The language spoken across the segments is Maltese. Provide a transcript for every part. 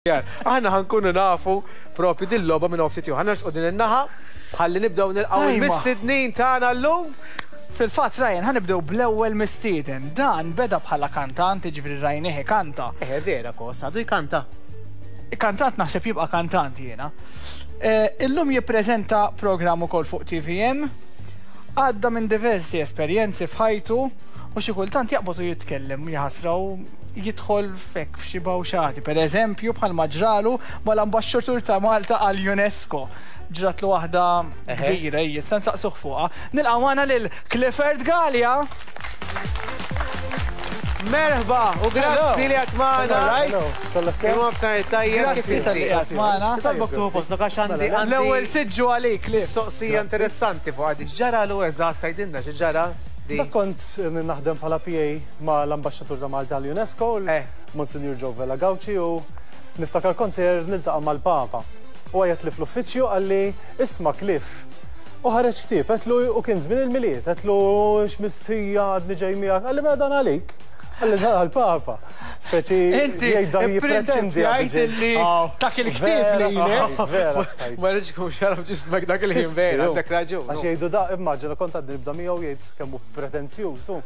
Aħna ħa nkunu nafu propju din logħba minn ftit Ħa nersqu din in-naħa ħalli nibdew nilqgħu il-mistednin tagħna llum. Fil-fatt Ryan ħa nibdew bl-ewwel mistieden. Dan beda bħala kantant, jiġifieri rajnieh ikanta. Eh vera kos, għadu jkanta. Kantant naħseb jibqa' kantant jiena. Eh, illum jippreżenta programm ukoll fuq TVM. Għadda minn diversi esperjenzi f'ħajtu u xi kultant jaqbad u jitkellem jaħasra u jidħol f'hekk f'xi bawxati. Per eżempju, bħalma ġralu mal-ambaxxatur ta' Malta għall-UNESCO. Ġratlu waħda kbira, issa nsaqsuh fuqha. Nilqgħu magħna lil Clifford Galea. Merħba u grazzi li għat magħna. Grazzi talli qiegħed magħna. Nitolbok tieħu postok għax għandi L-ewwel siġġu għalik, Cliff. Mistoqsija interessanti fuq għadi. X'ġaralu eżatt tgħidilna xi ġara? Dak kont naħdem bħala PA ma' l-Ambaxxatur ta' Malta għall-UNESCO, Monsinjur Joe Vella Gauci, u niftakar kont sejjer niltaqa' mal-Papa. U għajjatli fl-uffiċċju qalli, isma' Cliff. U ħareġ ktieb, għedtlu u kien żmien il-Milied, għedtlu x'mistħija għadni ġej miegħek, qalli mela dan għalik. Qalli dan għall-Papa. Speċi jgħid dan jippretendi. Jgħid illi dak il-ktieb lilek. Vera stajt. Ma rridx ikun xarab ġismek dak il-ħin vera, għandek raġun. Għax jgħidu da, immaġina kont għadni nibda miegħu jgħid kemm hu pretenzjuż hu.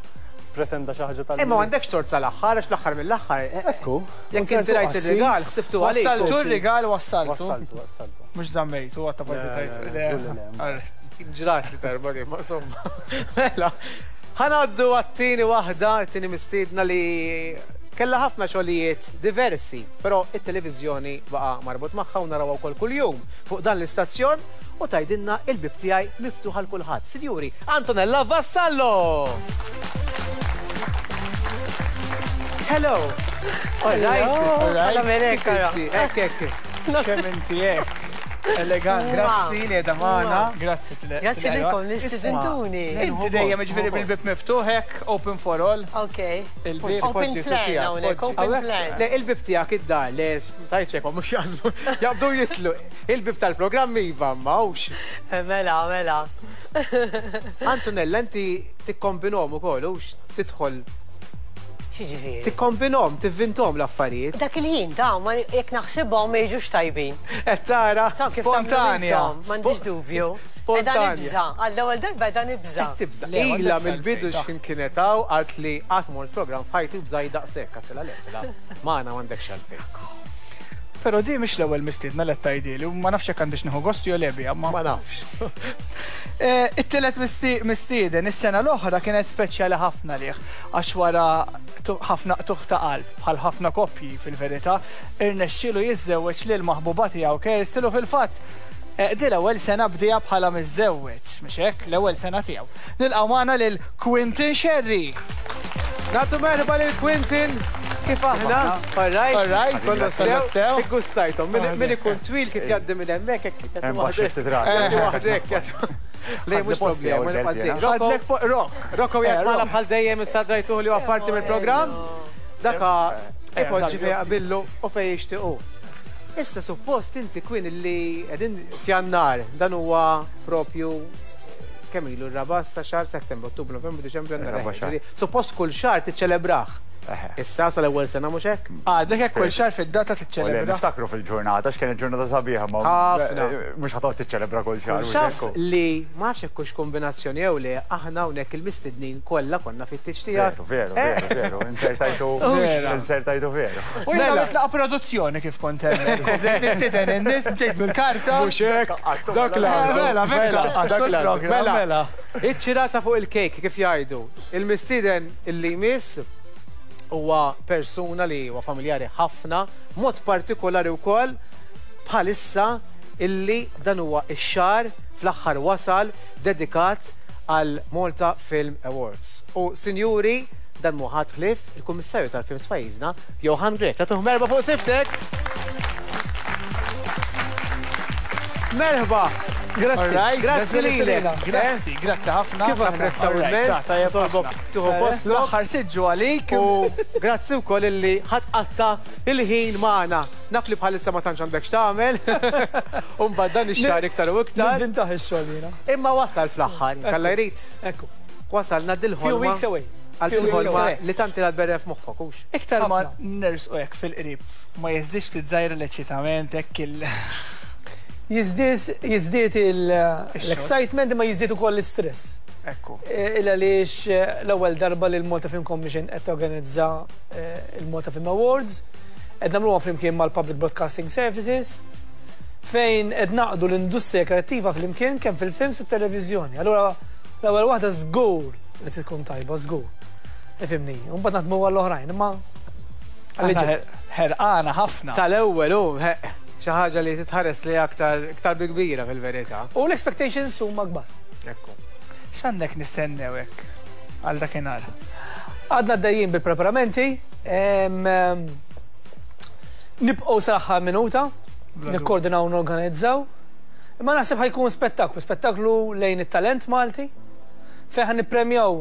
Pretenda xi ħaġa tal. Imma m'għandekx tort sal-aħħar għax l-aħħar mill-aħħar. Ekku. Jekk inti rajt ir-rigal, ħsibtu għalik. Wassaltu r-rigal wassaltu. Wassaltu, wassaltu. Mhux żammejtu, għatta forsi tajt. Ġrat li darba li, ma insomma. Mela, ħa ngħaddu għat-tieni waħda, it-tieni mistiedna li kellha ħafna xogħlijiet diversi, però it-televiżjoni baqa' marbut magħha u narawha wkoll kuljum fuq dan l-istazzjon u tgħidilna il-bieb tiegħi miftuħ għal kulħadd. Sinjuri, Antonella Vassallo! Hello! All right. All right. Hekk, hekk. Kemm inti hekk. Elegant. Grazzi li qiegħda magħna. Grazzi. Grazzi lilkom li stidintuni. Inti dejjem jiġifieri bil-bieb miftuħ hekk, open for all. Ok. Il-bieb. Open plan hawnhekk, open plan. Le, il-bieb tiegħek id-dar, le, tajt xejn, mhux jaħsbu, jaqbdu jitlu. Il-bieb tal-programm iva, ma hux. Mela, mela. Antonella, inti tikkombinhom ukoll, hux tidħol X'jiġifieri? Tikkombinhom, tivvinthom l-affarijiet. Dak il-ħin ta' ma jekk naħsibhom ma jiġux tajbin. Qed tara? Spontanja. M'għandix dubju. Spontanja. Qiegħda nibża', għall-ewwel darba qiegħda nibża'. Qed tibża'. Ilha mill-bidu x'ħin kienet hawn qalt li qatt mort programm f'ħajti u bżajt daqshekk. Għedtilha le, għedtilha magħna m'għandekx għalfejn. Però di mhix l-ewwel mistiedna li qed tgħidhieli u ma nafx jekk għandix nieħu gost jew le biha, ma. Ma nafx. It-tielet mistieden is-sena l-oħra kienet speċjali ħafna għalih għax wara ħafna qtugħ ta' qalb, bħal ħafna koppji fil-verità, irnexxielu jiżżewweġ lill-maħbuba tiegħu Kirsten u fil-fatt din l-ewwel sena bdieha bħala miżżewweġ, mhux hekk? L-ewwel sena tiegħu. Nilqgħu magħna lil Quinton Scerri! Nagħtu merħba lil Quinton! Kif aħna? All right? All right. Kollox sew? Iggustajthom. Min ikun twil kif jgħaddi minn hemmhekk hekk Hemm baxx ftit rasi. Jagħti waħdek. Le mhux problema. Ħadlek fuq rock. Rocco qiegħed magħna bħal dejjem issa drajtuh li huwa parti mill-programm. Daka ipoġġi fejn jaqbillu u fejn jixtiequ. Issa suppost inti Quinn li qegħdin f'Jannar, dan huwa propju kemm ilu r-raba' sa xahar Settembru, Ottubru, Novembru, Diċembru, Jannar. Suppost kull xahar tiċċelebrah. Issa sal-ewwel sena mhux hekk? Għadek hekk kull xahar fid-data tiċċelebra. Niftakru fil-ġurnata x'kienet ġurnata sabiħa ma Ħafna. Mhux ħa toqgħod tiċċelebra kull xahar. Taf li ma nafx hekk hux kombinazzjoni jew le, aħna hawnhekk il-mistednin kollha konna fit-tieġ tiegħek. Veru, veru, veru, insertajtu, insertajtu veru. U jiena għamilt laqgħa produzzjoni kif kont hemmhekk. Bdejt nistieden in-nies, bdejt bil-karta. Mhux hekk, dak l-għandu. Mela, mela, dak l-għandu. Mela, iċ-ċirasa fuq il-kejk kif jgħidu. Il-mistieden illi jmiss huwa persuna li huwa familjari ħafna, mod partikolari wkoll bħalissa illi dan huwa x-xahar fl-aħħar wasal dedikat għal Malta Film Awards. U sinjuri, dan mhu ħadd ħlief il-Kummissarju tal-Films f'pajjiżna, Johann Grech. Nagħtuh merħba fuq sibtek! Merħba! Grazzi. Grazzi lilek. Grazzi, grazzi ħafna. Kif napprezzaw immens. Nitolbok tieħu postok. L-aħħar siġġu għalik. U grazzi wkoll illi ħadd qatta il-ħin magħna. Naf li bħalissa ma tantx għandek x'tagħmel. U mbagħad dan ix-xahar iktar u iktar. Nivvintaħ ix-xogħol jiena. Imma wasal fl-aħħar, jekk Alla jrid. Ekku. Wasalna dil-ħolma. Few weeks away. Għal il-ħolma li tant ilha tberren f'moħħok, hux? Iktar ma nersqu hekk fil-qrib, ma jiżdiedx ftit żgħir l-eċċitament hekk il. Jiżdied jiżdied l-excitement imma jiżdied ukoll l-istress. Ekku. Il għaliex l-ewwel darba li l-Malta Film Commission qed torganizza l-Malta Film Awards, qed nagħmluha flimkien mal-Public Broadcasting Services, fejn qed naqdu l-industrija kreattiva flimkien kemm fil-films u t-televiżjoni. Allura l-ewwel waħda żgur li trid tkun tajba, żgur. Ifhimni, u mbagħad naħdmu għall-oħrajn, imma Ħerqana ħafna. Tal-ewwel hu xi ħaġa li titħares lejha aktar iktar bi kbira fil-verità. U l-expectations huma kbar. Ekku. X'għandek nistennew hekk għal dakinhar? Għadna għaddejjin bil-preparamenti. Nibqgħu sal-aħħar minuta, nikkoordinaw u norganizzaw. Imma naħseb ħa jkun spettaklu, spettaklu lejn it-talent Malti, fejn ħa nippremjaw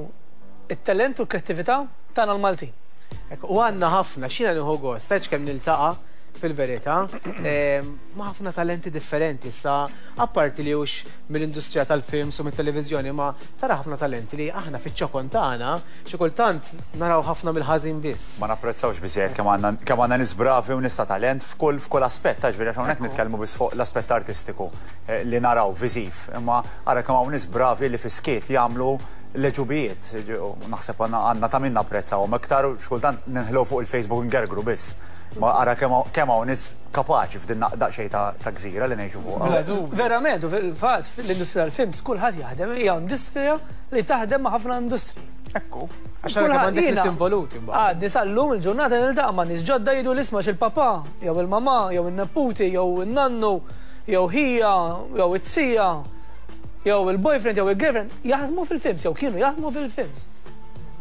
it-talent u l-kreattività tagħna l-Maltin. U għandna ħafna, x'jiena nieħu gost, tgħidx kemm niltaqa' fil-verità, ma' ħafna talenti differenti issa, apparti li hux mill-industrija tal-films u mit-televiżjoni, ma tara ħafna talenti li aħna fiċ-ċokon tagħna xi kultant naraw ħafna mill-ħażin biss. Ma napprezzawx biżżejjed kemm għandna kemm għandna nies bravi u nies ta' talent f'kull f'kull aspett, jiġifieri għax hawnhekk nitkellmu biss fuq l-aspett artistiku li naraw viżiv, imma ara kemm hawn nies bravi li fis-skiet jagħmlu l-għeġubijiet. Naħseb għandna għandna ta' min napprezzawhom iktar u xi kultant ninħlew fuq il-Facebook ngergru biss. Ma ara kemm hawn nies kapaċi f'din daqsxejn ta' gżira li ngħixu fuqha. Verament, u fil-fatt fl-industrija tal-films kulħadd jaħdem, hija industrija li taħdem ma' ħafna industriji. Ekku. Għax tara kemm għandek nies involuti mbagħad. Għadni sal-lum il-ġurnata niltaqa' ma' nies ġodda jgħiduli isma' x'il-papà jew il-mamà jew in-neputi jew in-nannu jew ħija jew it-zija jew il-boyfriend jew il-girlfriend jaħdmu fil-films jew kienu jaħdmu fil-films.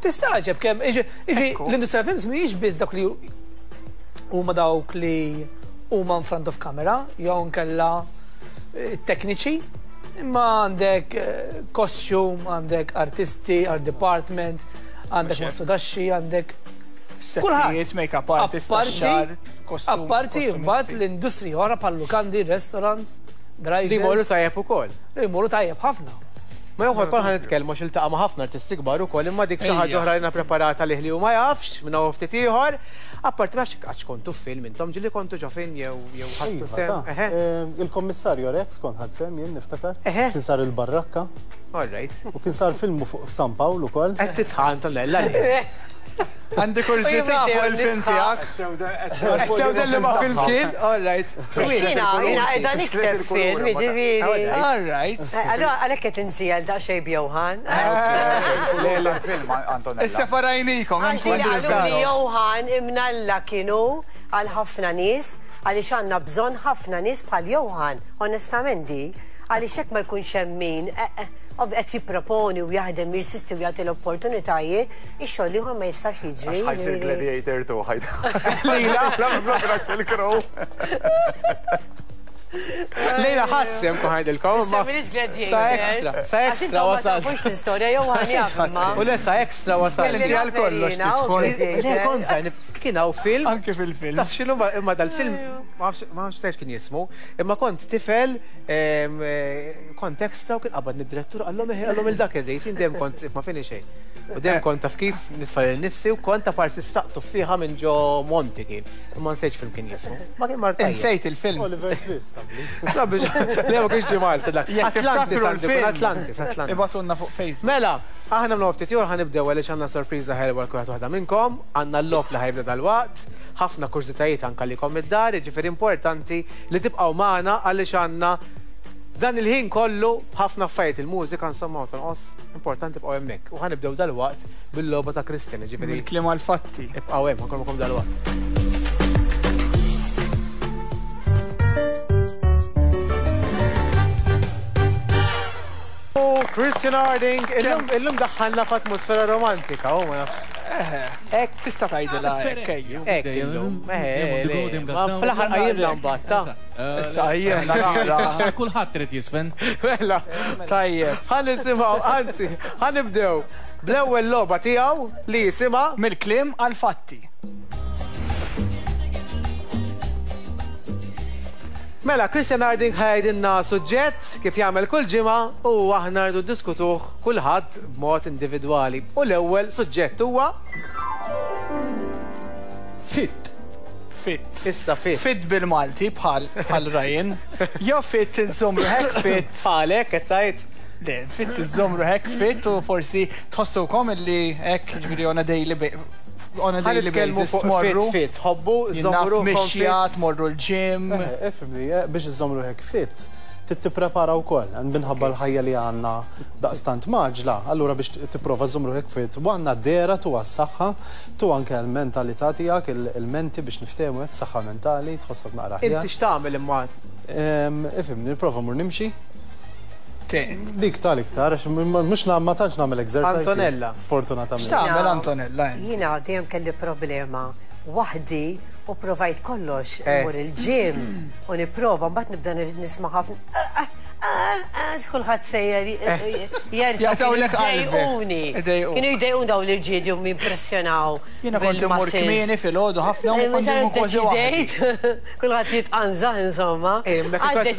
Tistagħġeb kemm, jiġi l-industrija tal-films mhijiex biss dawk li huma dawk li huma in front of camera jew inkella tekniċi, imma għandek costume, għandek artisti, art department, għandek mastudaxxi, għandek Settijiet, make-up artist, tax-xagħar, kostum. Apparti mbagħad l-industriji oħra bħal lukandi, restaurants, drivers. Li jmorru tajjeb ukoll. Li jmorru tajjeb ħafna. Ma jew ukoll ħa nitkellmu għax iltaqa' ma' ħafna artisti kbar ukoll imma dik xi ħaġa oħra li jiena preparata għalih li hu ma jafx minn hawn u ftit ieħor. Apparti ma nafx għax kontu f'film intom, ġieli kontu ġo film jew jew ħadtu sehem? Iva, ta. Il-Kommissarju Rex kont ħadt sehem jien niftakar. Kien sar il-Barrakka. All right. U kien sar film fuq San Pawl ukoll. Qed titħan Antonella għaliex? Għandi kurżità fuq il-film tiegħek. Qed tewden li ma film kien? All right. Jiena jiena qiegħda nikteb film, jiġifieri. All right. Allura għalhekk qed insiegħel daqsxejn b'Johan. Le le film Antonella. Issa farajnikom hemm Għax li qaluli Johan imnalla kien hu għal ħafna nies għaliex għandna bżonn ħafna nies bħal Johan, onestament di, għaliex hekk ma jkunx hemm min qed jipproponi u jaħdem jirsisti u jagħti l-opportunitajiet, ix-xogħol l-ieħor ma jistax jiġri. Għax ħa jsir Gladiator 2 ħa Lejla, la minflok Russell Crowe. Lejla ħadd sehem kun ħajdilkom. Issa m'iniex Gladiator. Sa extra, sa extra wasalt. Għax l-istorja jew ħan jaf imma. U le sa extra wasalt. Inti għal kollox tidħol. Le kont żgħir, kien hawn film. Anke fil-film. Taf x'inhu imma dal-film ma nafx kien jismu, imma kont tifel kont extra u kien qabadni d-direttur qallhom eħe qallhom il dak irrid, jien dejjem kont ma fini xejn. U dejjem kont taf kif nitfa' lil nifsi u kont ta' parsi sraqt tuffieħa minn ġo Monti kien. Imma nsejtx film kien jismu. Ma kien mar tajjeb. Insejt il-film. Oliver Twist qabli. La biex le ma kienx ġie Malta dak. Jekk Atlantis tiftakru għandu jkun l-film. Atlantis, Atlantis. Ibgħatulna fuq Facebook. Mela, aħna minn ftit ieħor ħa nibdew għaliex għandna sorpriża ħelwa għal kulħadd waħda minnkom, għandna l-logħob li ħa jibda dalwaqt, ħafna kurżitajiet anke għalikom mid-dar, jiġifieri importanti li tibqgħu magħna għaliex għandna dan il-ħin kollu b'ħafna affarijiet, il-mużika insomma ma tonqos, importanti tibqgħu hemmhekk. U ħa nibdew dalwaqt bil-logħba ta' Christian, jiġifieri. Mill-kliem għall-fatti. Ibqgħu hemm, ħa nkun magħkom dalwaqt. U Christian Harding, illum illum daħħalna f'atmosfera romantika, u ma nafx. Hekk tista' tgħidilha hekk ejju. Hekk illum. Eħe, ma fl-aħħar qajjimna mbagħad ta'. Issa qajjimna naqra. Kulħadd irid jisfen. Mela. Tajjeb. Ħa nisimgħu, anzi, ħa nibdew bl-ewwel logħba tiegħu li jisimha Mill-kliem għall-fatti. Mela, Christian Harding ħa jgħidilna suġġett kif jagħmel kull ġimgħa u aħna rridu ddiskutuh kulħadd b'mod individwali. U l-ewwel suġġett huwa Fit. Fit. Issa fit. Fit bil-Malti bħal bħal Ryan. Jew fit inżomm ruħek fit. Bħalek qed tgħid? Le, fit iżżomm ruħek fit u forsi tħossukom illi hekk ġifieri on a daily on a daily basis fuq tmorru. Fit, fit, ħobbu, żommu ruħkom fit. Mixja, tmorru l-gym. Ifhimni, biex iżżomm ruħek fit, trid tipprepara wkoll, minħabba l-ħajja li għandna daqstant mgħaġġla, allura biex tipprova żżomm ruħek fit, u għandna d-dehra tu għas-saħħa, tu anke għall-mentalità tiegħek, il-menti biex niftehmu hekk, saħħa mentali, tħossok naqra aħjar. Inti x'tagħmel imma? Ifhimni, nipprova mmur nimxi. Dik tal-iktar, għax mhux ma tantx nagħmel exercise. Antonella. Sfortunatament. X'tagħmel Antonella int? Jiena dejjem kelli problema waħdi u provajt kollox, immur il-gym u nipprova, mbagħad nibda nisma' ħafna kulħadd sejjer jerfa' Jaqtgħulek qalbek. Jdejquni. Kienu jdejquni dawn l-irġiel li jimpressjonaw. Jiena kont immur kmieni filgħodu ħafna u kont immur kważi waħdi. Kulħadd jitqanżah insomma. Għad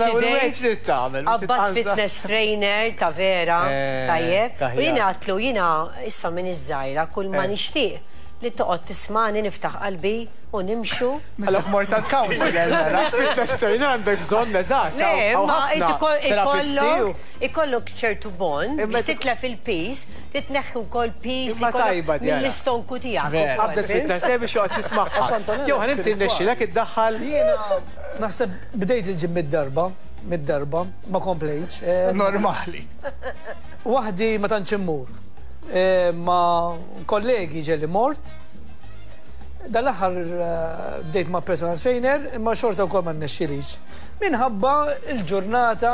tagħmel. Qabbadt fitness trainer ta' vera, tajjeb. U jiena għadtlu jiena issa m'iniex żgħira, kull ma nixtieq li toqgħod tismagħni niftaħ qalbi u nimxu. Mela mort għand counselor mela. Fitness trainer għandek bżonn eżatt. Le, imma ikollok ikollok ċertu bond biex titlef il-piż, titneħħi wkoll piż li jkollok mill-istonku tiegħek. Qabdet fitness trainer biex joqgħod jismagħha. Johan inti rnexxielek iddaħħal. Jiena naħseb bdejt il-gym mid-darba. Mid-darba, ma komplejtx. Normali. Waħdi ma tantx immur. Ma' kollegi ġeli mort. Dal-aħħar bdejt ma' personal trainer, imma xorta wkoll ma rnexxilix. Minħabba l-ġurnata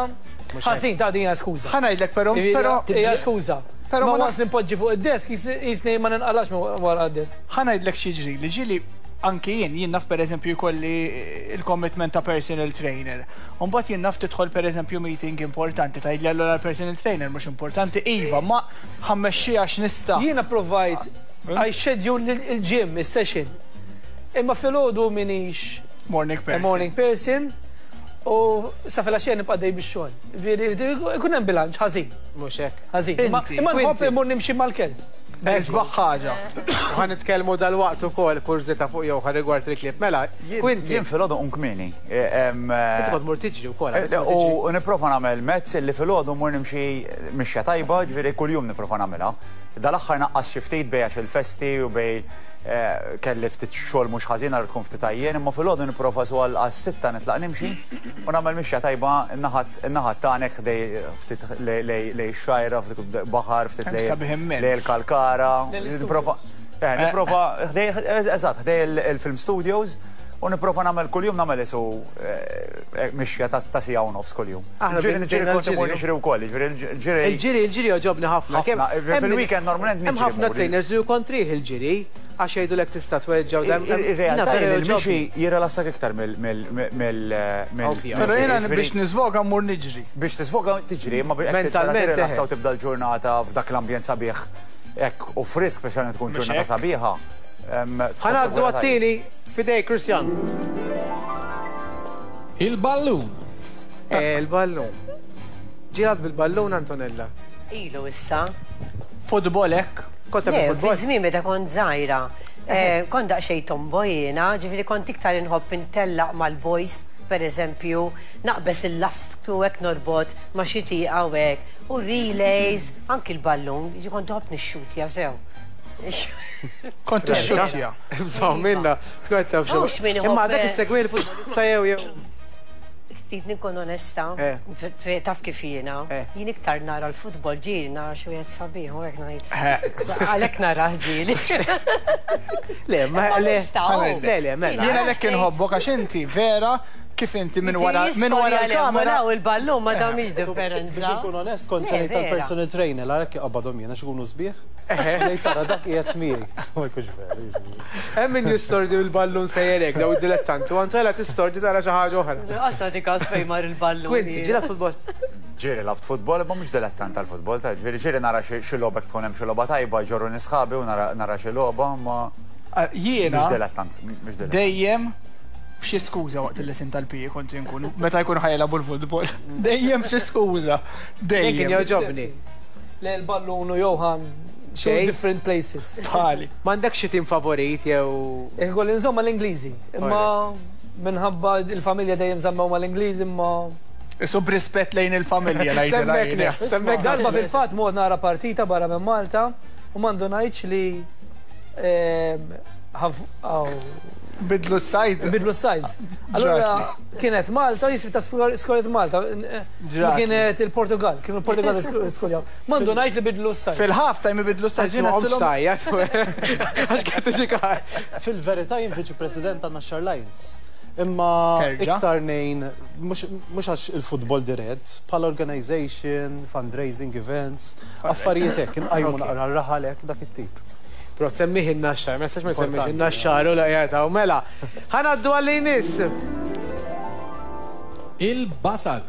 ħażin ta' din hija skuża. Ħa ngħidlek però, però. Hija skuża. Però ma once nimpoġġi fuq id-desk jisni ma ninqalax minn wara d-desk. Ħa ngħidlek x'jiġrili, ġieli anki jien, jien naf pereżempju jkolli l-commitment ta' personal trainer. U mbagħad jien naf tidħol pereżempju meeting importanti, tgħidli allura l-personal trainer mhux importanti, iva, ma ħa mmexxiha x'nista'. Jiena provajt I schedule il-gym, is-session. Imma filgħodu m'iniex Morning person. a morning person u sa filgħaxija nibqa' għaddej bix-xogħol. Jiġifieri jkun hemm bilanċ ħażin. Mhux hekk. Ħażin. Imma nħobb immur nimxi mal-kelb. Isbaħ ħaġa. U ħa nitkellmu dalwaqt ukoll kurżità fuq Johan rigward il-klieb. Mela, Quintin. Jien filgħodu nqum kmieni. Inti kont tmur tiġri wkoll. U nipprova nagħmel mezz li filgħodu mmur nimxi mixja tajba, ġifieri kuljum nipprova nagħmilha. Dal-aħħar naqqast xi ftit bejn għax il-festi u bejn kelli ftit xogħol mhux ħażin allura tkun ftit għajjien, imma filgħodu nipprova su għas-sitta nitlaq nimxi u nagħmel mixja tajba n-naħat in-naħat tagħna hekk ħdej ftit lejn ix-xgħajra, ftit baħar, ftit lejn il-Kalkara. Nipprova nipprova ħdej eżatt ħdej il-film studios u nipprova nagħmel kuljum nagħmel isu mixja ta' siegħa u nofs kuljum. Ġieli ġieli kont immur niġri wkoll, jiġifieri l-ġiri. Il-ġiri, il-ġiri jogħġobni ħafna. Fil-weekend normalment niġri. Hemm ħafna trainers li hu kontrih il-ġiri għax jgħidulek tista' tweġġa' u dan. Ir-realtà hi li l-mixi jirrilassak iktar mill. Però jiena biex niżvoga mmur niġri. Biex tiżvoga tiġri, imma biex tirrilassa u tibda l-ġurnata f'dak l-ambjent sabiħ hekk u frisk speċjalment tkun ġurnata sabiħa. Ħa ngħaddu għat-tieni f'idejk Christian. Il-ballun. Il-ballun. Ġiegħek bil-ballun Antonella? Ilu issa. Futbol hekk? Kont tagħmel futbol? Le, fi żmien meta kont żgħira. Kont daqsxejn tomboy jiena, ġifieri kont iktar inħobb intellaq mal-boys, pereżempju, naqbeż il-lastku hekk norbot ma' xi tieqa u hekk, u relays, anki l-ballun, ġifieri kont inħobb nixxutja sew. Kont tixxutja. Bżonn minna, tkun qed taf x'hu. Imma għadek issegwi l-futbol issa jew jew. Trid inkun onesta, taf kif jiena, jien iktar nara l-futbol ġieli nara xi wieħed sabiħ u hekk ngħid. Għalhekk narah ġieli. Le, ma le. Le, le, mela. Jiena għalhekk inħobbok għax inti vera kif inti minn wara minn wara l-kamera. U l-ballun ma tagħmilx differenza. Biex inkun onest, kont se ngħid tal-personal trainer għalhekk iqabbadhom jien għax ikunu sbieħ. Ngħid tara dak qiegħed miegħi. Ma jkunx vera. jiġifieri. Hemm min jistordi bil-ballun sejjer hekk daw id-dilettanti u Antonella tistordi tara xi ħaġa oħra. Lanqas nagħti każ fejn mar il-ballun. Quinty, ġieli lgħabt futbol? Ġieli lgħabt futbol imma mhux dilettant tal-futbol, ta' ġifieri ġieli nara xi logħba jekk tkun hemm xi logħba tajba jġorruni sħabi u nara xi logħba imma Jiena mhux dilettant, mhux dilettant. dejjem B'xi skuża waqt il-lesson tal-PE kont inkun, meta jkunu ħa jilagħbu l-futbol. Dejjem b'xi skuża. Dejjem. Kien jogħġobni. Le l-ballun u Johan two different places. Bħali. M'għandekx xi tim favorit jew. Jekk ikolli nżomm mal-Ingliżi. Imma minħabba l-familja dejjem żammew mal-Ingliżi imma. Isu b'rispett lejn il-familja ngħidilha jien. Semmek Darba fil-fatt mort nara partita barra minn Malta u ma ndunajtx li Bidlu s-sides. Bidlu s-sides. Allura kienet Malta, jisbi ta' skorjet Malta. Kienet il-Portugal, kienu il-Portugal skorjaw. Mandu ngħid li bidlu s-sides. Fil-half time ibidlu s-sides. Jiena Għax kienet tiġi Fil-verità jien viċi president ta' Naxxar Lions. Imma iktar nejn, mhux għax il-futbol dirett, bħala organization, fundraising events, affarijiet hekk, inqajmu naqra r-raħal hekk dak it-tip. Però tsemmih in-Naxxar, ma jistax ma jsemmix in-Naxxar u la qiegħed hawn. Mela, ħa ngħaddu għal li jmiss. Il-basal.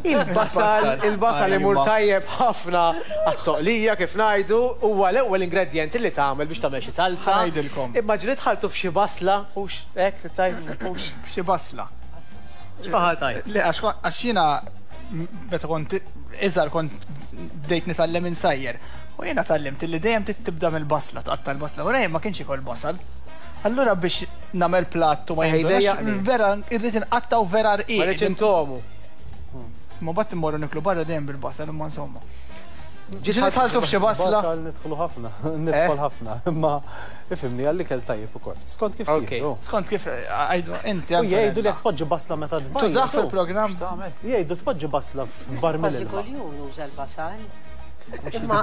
Il-basal, il-basal imur tajjeb ħafna għat-toqlija kif ngħidu, huwa l-ewwel ingredjent li tagħmel biex tagħmel xi salza. Ngħidilkom. Imma ġieli dħaltu f'xi basla, hux hekk tgħid? Hux f'xi basla. X'ma tgħid? Le għax jiena meta kont iżgħar kont bdejt nitgħallem insajjer. U jiena tgħallimt illi dejjem trid tibda mill-basla, tqatta' l-basla. U Ryan ma kienx jiekol basal. Allura biex nagħmel platt u ma jindunax, vera irrid inqattgħu vera rqiq. Ma rridx intomu. Ma mbagħad immorru niklu barra dejjem bil-basal imma insomma. Ġieli dħaltu f'xi basla? Basal nidħlu ħafna, nidħol ħafna, imma ifhimni għall-ikel tajjeb ukoll. Skont kif tieħdu. Skont kif għidu inti. U jgħidu li jekk tpoġġi basla meta tbajjad. Tużah fil-programm? Jgħidu tpoġġi basla f'barmil ilma. Kważi kuljum nuża l-basal. Imma,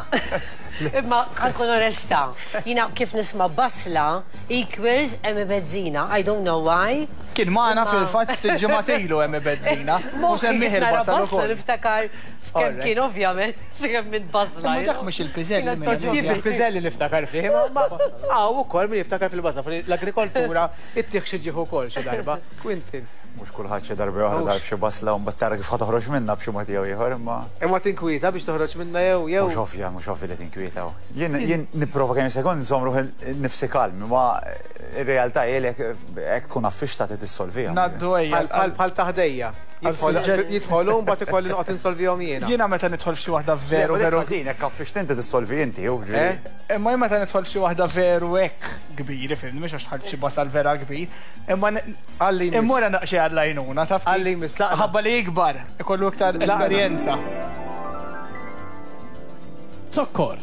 imma ħankun onesta, jina kif nisma' basla equals Emmy Bezzina, I don't know why. Kien magħna fil-fatt ftit ġimgħat ilu Emmy Bezzina. U semmih il-basal ukoll. Niftakar kemm kien ovvjament, kemm minn basla. Imma dak mhux il-piżelli. Kif il-piżelli niftakar fih, imma hawn ukoll min jiftakar fil-basla, l-agrikoltura ittih xi ġieħ ukoll xi darba. Quintin. Mhux kulħadd xi darba jew oħra dar f'xi basla u mbagħad tara kif ħa toħroġ minnha b'xi mod jew ieħor imma. Imma tinkwieta biex toħroġ minnha jew jew. Mhux ovvja, mhux ovvja li tinkwieta. Jien jien nipprova kemm jista' jkun nżomm ruħi nnifsi kalm, imma r-realtà hi li hekk tkun affixta trid issolviha. Ngħaddu ejja. Bħal bħal ta' ħdejja. Jidħol hu mbagħad ikolli noqgħod insolvihom jiena. Jiena meta nidħol f'xi waħda veru veru. Ħażin hekk affixt inti tissolvi inti, hu ġifieri. Imma jien meta nidħol f'xi waħda veru hekk kbir, ifhimni, mhux għax dħalt f'xi basal vera kbir, imma immur daqsxejn għall-għajnuna, taf. Għalli jmiss laqna. Ħabba li jikbar, ikollu iktar esperjenza. Zokkor.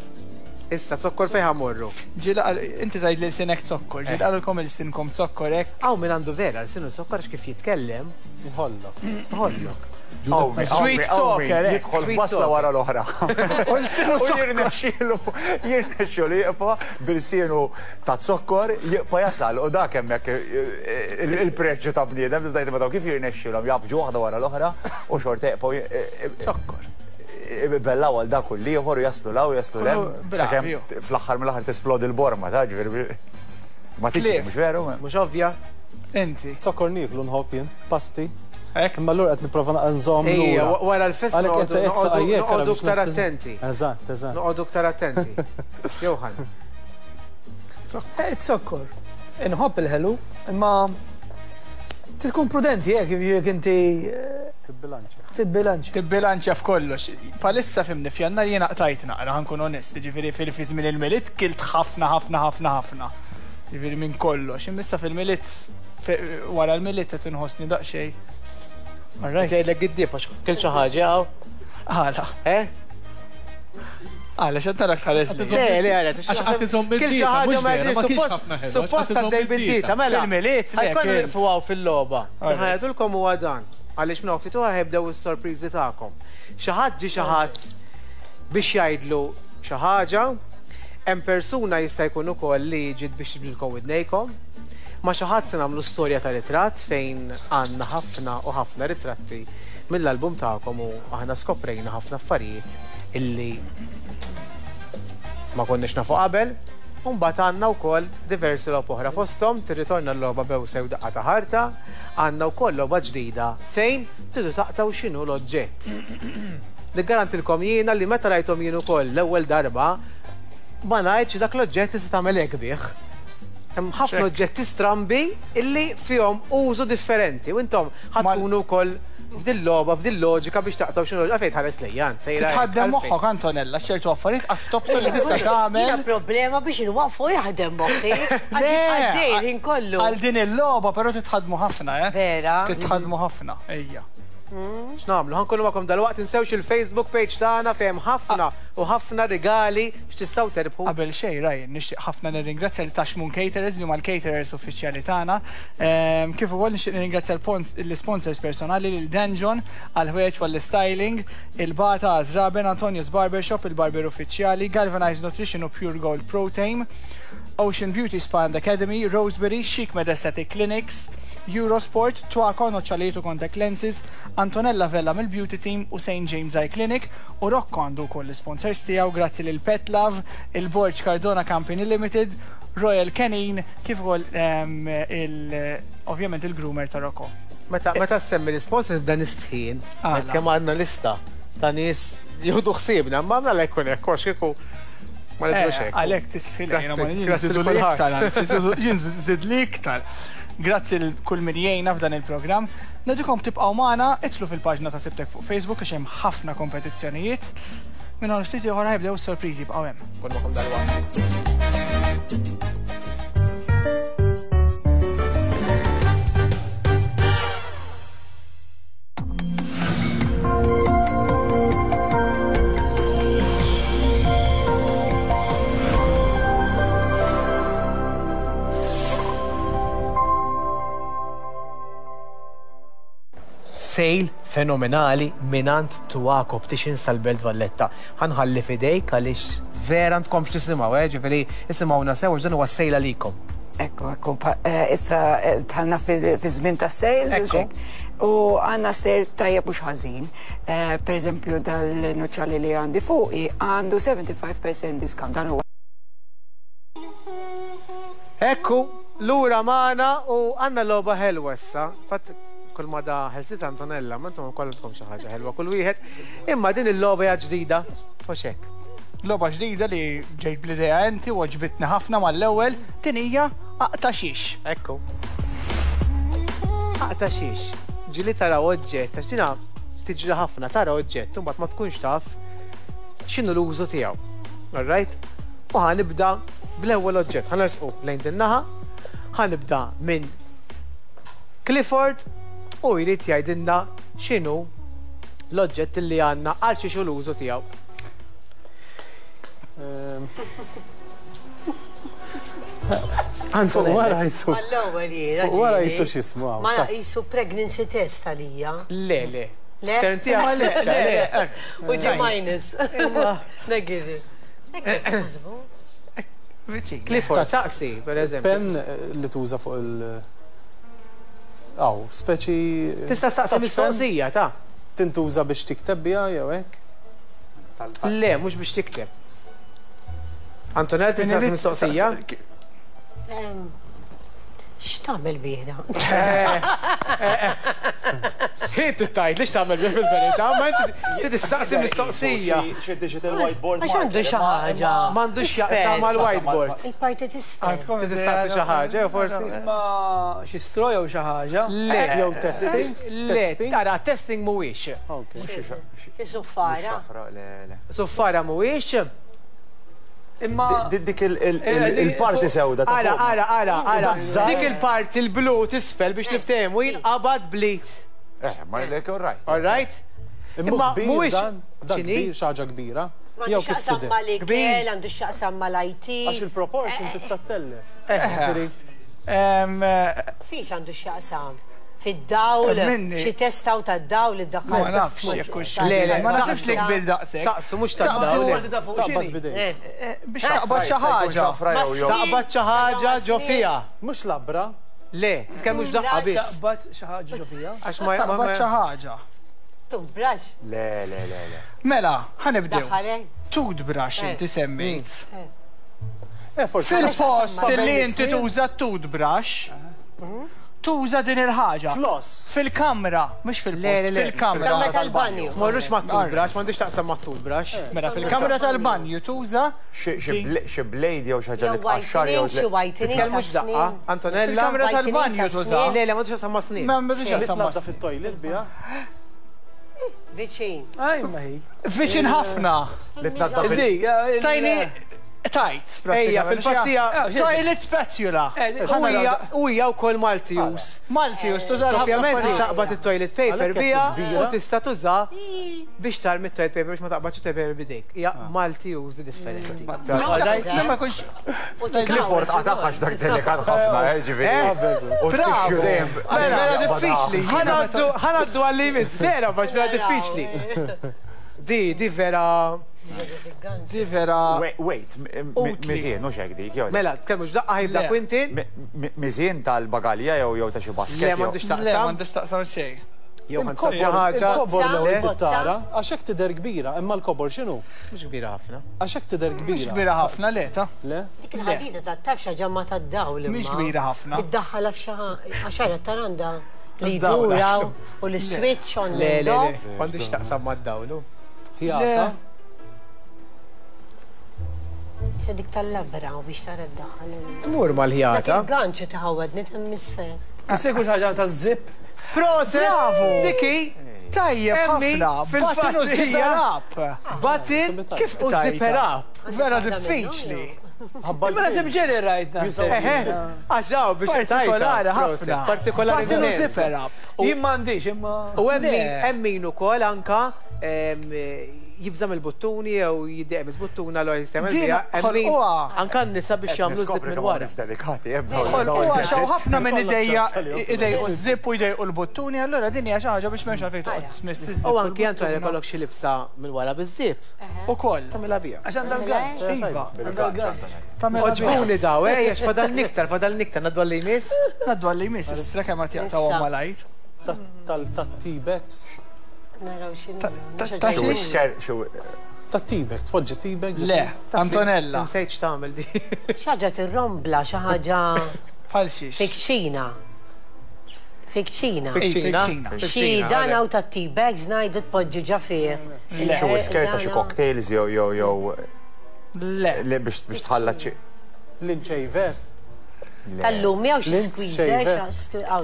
Issa, zokkor fejn ħa mmorru? Ġieli qal, inti tgħid li lsinek zokkor, ġieli qalulkom ilsinkom zokkor hekk? Hawn min għandu vera lsinu zokkor għax kif jitkellem. Jħollok. Jħollok. Sweet talker, eh. Jidħol f'basla wara l-oħra. U lsienu zokkor. Jirnexxielu, jirnexxielu jibqa' bil-sienu ta' zokkor jibqa' jasal u dak hemmhekk il-preġju ta' bniedem tibda tgħid imma dawn kif jirnexxielhom jgħaffġu waħda wara l-oħra u xorta jibqgħu Zokkor. Ibellaw għal dak u l-ieħor u jaslu 'l hawn u jaslu 'l hemm sakemm fl-aħħar mill-aħħar tisplodi l-borma ta' ġifieri ma tiġri mhux veru? Mhux ovvja. Inti. Zokkor nieklu nħobb jien, pasti. Hekk? Imma allura qed nipprova naqra nżomm lura. Ejja, wara l-festa noqogħdu iktar attenti. Eżatt, eżatt. Noqogħdu iktar attenti. Johan. Eh, zokkor. Inħobb il-ħelu, imma tkun prudenti jekk jekk inti eh, Tibbilanċja. Tibbilanċja. Tibbilanċja f'kollox. Palissa fimni f'Jannar jiena qtajt naqra ħa nkun onest, jiġifieri fil fi żmien il-Milied kilt ħafna ħafna ħafna ħafna. Jiġifieri minn kollox. Imma issa fil-Milied wara l-Milied qed inħossni daqsxejn. All right. Jgħidlek giddieb għax kilt xi ħaġa hawn. Għala. Eh? Għala, xed narak tħares li. Le, le, għala. Għax qed iżomm id-dieta, mhux vera, ma kienx ħafna ħelu. Suppost għaddej bid-dieta, mela. Fil-Milied, le. Ħajkun nieqfu hawn fil-logħba. Ħajatulkom huwa dan. Għaliex minn hawn ftit oħra ħajbdew is-sorpriżi tagħkom. Xi ħadd ġie xi ħadd biex jgħidlu xi ħaġa, hemm persuna jista' jkun ukoll li ġiet biex tibdilkom widnejkom. Ma' xi ħadd se nagħmlu storja ta' ritratt fejn għandna ħafna u ħafna ritratti mill-album tagħkom u aħna skoprejna ħafna affarijiet illi ma konniex nafu qabel. U mbagħad għandna wkoll diversi logħob oħra fosthom tirritorna l-logħba Bewsa jew Daqqa ta' Ħarta, għandna wkoll logħba ġdida fejn tridu taqtgħu x'inhu l-oġġett. Niggarantilkom jiena li meta rajthom jien ukoll l-ewwel darba ma ngħidx li dak l-oġġett tista' tagħmel hekk bih. Hemm ħafna oġġetti strambi illi fihom użu differenti u intom ħa tkunu wkoll f'dil logħba, f'dil loġika biex taqtgħu x'inhu għalfejn tħares lejja int sejra hekk, Titħaddem għalfejn? moħħok Antonella, ċertu affarijiet qas tobsor li tista' tagħmel. Jiena problema biex inwaqqfu jaħdem moħħi għax jibqa' għaddej il-ħin kollu. Għal din il-logħba però titħaddmu ħafna, eh? Vera? Titħaddmu ħafna, ejja. X'nagħmlu? Ħa nkunu magħkom dalwaqt, tinsewx il-Facebook page tagħna fejn hemm ħafna u ħafna rigali x'tistgħu terbħu. Qabel xejn, Ryan, nixtieq ħafna nirringrazzja lil Taxmun Caterers li huma l-caterers uffiċjali tagħna. Kif ukoll nixtieq nirringrazzja l-isponsors personali lil Danjon għall-ħwejjeġ u għall-istyling, il-Bata Għażraben, Antonio's Barbershop, il-barber uffiċjali, Galvanized Nutrition u Pure Gold Protein, Ocean Beauty Spa and Academy, Roseberry, Chic Med Aesthetic Clinics, Eurosport, Twaco, Noċċalijiet u Contact Lenses, Antonella Vella mill-Beauty Team u St James Eye Clinic u Rocco għandu wkoll l-isponsors tiegħu grazzi lil Pet Love, il-Borg Cardona Company Limited, Royal Canin kif ukoll il ovvjament il-groomer ta' Rocco. Meta meta ssemmi l-isponsors nibda nistħin. Għala? Kemm għandna lista ta' nies jieħdu ħsiebna, imma għandna jkun hekk għax kieku ma nidhrux hekk. Għalhekk tistħi Grazzi, grazzi lil kulħadd. Jien żidli iktar. Grazzi lil kull min jgħinna f'dan il-programm. Ngħidukom tibqgħu magħna, idħlu fil-paġna ta' Sibtek fuq Facebook għax hemm ħafna kompetizzjonijiet. Minn hawn ftit ieħor ħajbdew is-sorpriżi bqgħu hemm. Nkun magħkom dalwaqt. Sale fenomenali mingħand Tuaco Opticians tal-Belt Valletta. Ħa nħalli f'idejk għaliex vera għandkomx tisimgħu, eh, ġifieri isimgħuna sew għax dan huwa sale għalikom. Ekku, ekku, issa dħalna fi żmien ta' sales. Ekku. U għandna sale tajjeb mhux ħażin. Per eżempju, dal-nuċċali li għandi fuqi għandu 75% discount. Dan huwa Ekku, lura magħna u għandna logħba ħelwa issa. Fatt kull ma da ħelsit Antonella, ma intom ukoll għandkom xi ħaġa ħelwa kull wieħed. Imma din il-logħba hija ġdida, u xek. Logħba ġdida li ġejt bl-idea inti u għoġbitni ħafna mal-ewwel, din hija aqta' xiex. Ekku. Aqta' xiex. Ġieli tara oġġett, għax dina tiġri ħafna, tara oġġett, u mbagħad ma tkunx taf x'inhu l-użu tiegħu. All right? U ħa nibda bl-ewwel oġġett. Ħa nersqu lejn din naħa, ħa nibda minn Clifford u jrid jgħidilna x'inhu l-oġġett li għandna għal xiex l-użu tiegħu. Fuq wara jisu. Għall-ewwel jiena. Fuq wara jisu x'ismu hawn. Ma jisu pregnancy test għalija. Le, le. Le? Terntija le, le. U ġi minus. Negative. Clifford, saqsi, per eżempju. Pen li tuża fuq il- Aw, speċi. Tista' staqsi touch pen mistoqsija, ta' Tintuża biex tikteb biha jew hekk? Le, mhux biex tikteb. Antonella, tista' mistoqsija? X'tagħmel bih? Inti tgħid li x'tagħmel bih fil-verità, ma inti tistaqsi mistoqsija. Xi digital whiteboard. Għax għandu xi ħaġa. M'għandux x'jaqsam mal-whiteboard. Il-parti t'isfel. Tistaqsi xi ħaġa, jew forsi. Ma xi straw jew xi ħaġa. Le, Jew testing? Le, Testing? tara, testing mhuwiex. Ok. Xi suffara. Le, le. Suffara mhuwiex. Imma Dik il-parti sewda ta' Ara, fuq. ara, ara, ara. Dik il-parti il-blu t'isfel biex niftehmu jinqabad bl-id. Eh, ma lek all right. All right? Imma kbir mhuwiex dan, dan X'inhi? kbir, xi ħaġa kbira. Għandu Jew kif x'jaqsam tidher. mal-ikel, Kbir. għandu x'jaqsam mal-IT. Għax il-proportion tista' ttellef. Ġifieri, Fiex għandu x'jaqsam? Fid-dawl, Minni. xi testaw tad-dawl id-daħħal. Ma nafx jekk hux. Le, le, Ma naħsibx li kbir daqshekk. Saqsu mhux tad-dawl. parti ta' fuq Taqbad x'inhi? bidejk. Biex taqbad xi ħaġa. Xafra jew jew. Taqbad xi ħaġa ġo fiha. Mhux labra, Le, tkellmux daqqa biss. Taqbad xi ħaġa ġo fiha. Għax ma Taqbad xi ħaġa. Toothbrush. Le, le, le, le. Mela, ħa nibdew. Daħħalek. Toothbrush inti semmejt. Eh, forsi. Fil-post Ta' li bejn inti is-snin. tuża toothbrush, Tuża din il-ħaġa. Floss. Fil-kamra, mhux fil-post, fil-kamra. Kamra tal-banju. Tmorrux mat-toothbrush, m'għandix taqsam mat-toothbrush. Mela fil-kamra tal-banju tuża. Xi blade jew xi ħaġa li tqaxxar jew. Xi whitening. Tkellmux daqqa, Antonella. Fil-kamra tal-banju tuża. Le, le, m'għandux taqsam ma' snien. M'għandux taqsam ma' snien. fit-toilet biha. Viċin. Aj, ma hi. Viċin ħafna. Li tnaddaf il. Tajni tajt, Ejja, fil-fatt hija. Toilet spatula. U hija wkoll multi-use. Multi-use, tuża l Ovvjament tista' taqbad it-toilet paper biha u tista' tuża biex tarmi t-toilet paper biex ma taqbadx it-toilet paper b'idejk. Hija multi-use differenti. Ma jkunx. Clifford qatagħha għax dak delikat ħafna, ġifieri. U t-tixju dejjem. Vera diffiċli. Ħa ngħaddu għal li jmiss, vera, għax vera diffiċli. Di, di vera. Di vera. Wait, miżien, mhux hekk dik, jew. Mela, tkellmux daqqa ħajbda Quintin. Miżien tal-bagalja jew jew ta' xi basket. Le, m'għandux taqsam. Le, m'għandux taqsam xejn. Jew xi ħaġa. Il-kobor l-ewwel tara, għax hekk tidher kbira, imma l-kobor x'inhu? Mhux kbira ħafna. Għax hekk tidher kbira. Mhux kbira ħafna, le ta. Le? Dik il-ħadida ta' taf xi ġamma tad-dawl. Mhix kbira ħafna. Iddaħħalha f'xi għax ara taranda li jduraw u l-switch on Le, le, le, m'għandux taqsam mad-dawlu. Ħjata. Se dik tal-labra u biex tara d-daħal. Tmur mal-ħjata. Dak il-ganċ tħawwadni t'hemm isfel. Isegwu xi ħaġa ta' zip. Proset! Bravo! Diki! Tajjeb ħafna! Fil-fatt Button u zipper up! Button kif u zipper up! Vera diffiċli. Imma naħseb ġeri rajt naħseb. Eħe, għax daw biex Partikolari ħafna. Partikolari Button u zipper up. Jien m'għandix imma. U hemm min ukoll anka jibża' mill-buttuni jew jiddejjaq mill-buttuna allura jista' jagħmel biha. Hemm min anka n-nisa biex jagħmlu żip minn wara. Delikati, Ħolquha għax hawn ħafna min idejqu ż-żip u jdejqu l-buttuni, allura din hija xi ħaġa biex m'hemmx għalfejn toqgħod tmiss iż-żip. U anki Antonio jkollok xi libsa minn wara biż-żip. Ukoll. Tagħmilha biha. Għax għandha l-ganċ. Iva. Għandha l-ganċ. Tagħmilha biha. Għoġbuni daw, eh, għax fadal niktar, fadal niktar, ngħaddu għal li jmiss. Ngħaddu għal li jmiss, issa kemm qed jaqtgħuhom malajr. Tat-T-Bags. Naraw x'inhu. Ta' xiex? Tat-T-bag, tpoġġi T-bag. Le, Antonella. Nsejt x'tagħmel di. Xi ħaġa tirrombla, xi ħaġa. Bħal xiex? Fikċina. Fikċina. Fikċina. Xi dan hawn tat-T-bags ngħidu tpoġġi ġa fih. Xi whisker ta' xi cocktails jew jew jew. Le. Le biex biex tħallat xi. L-inċejver. Tal-lum jew xi squeezer,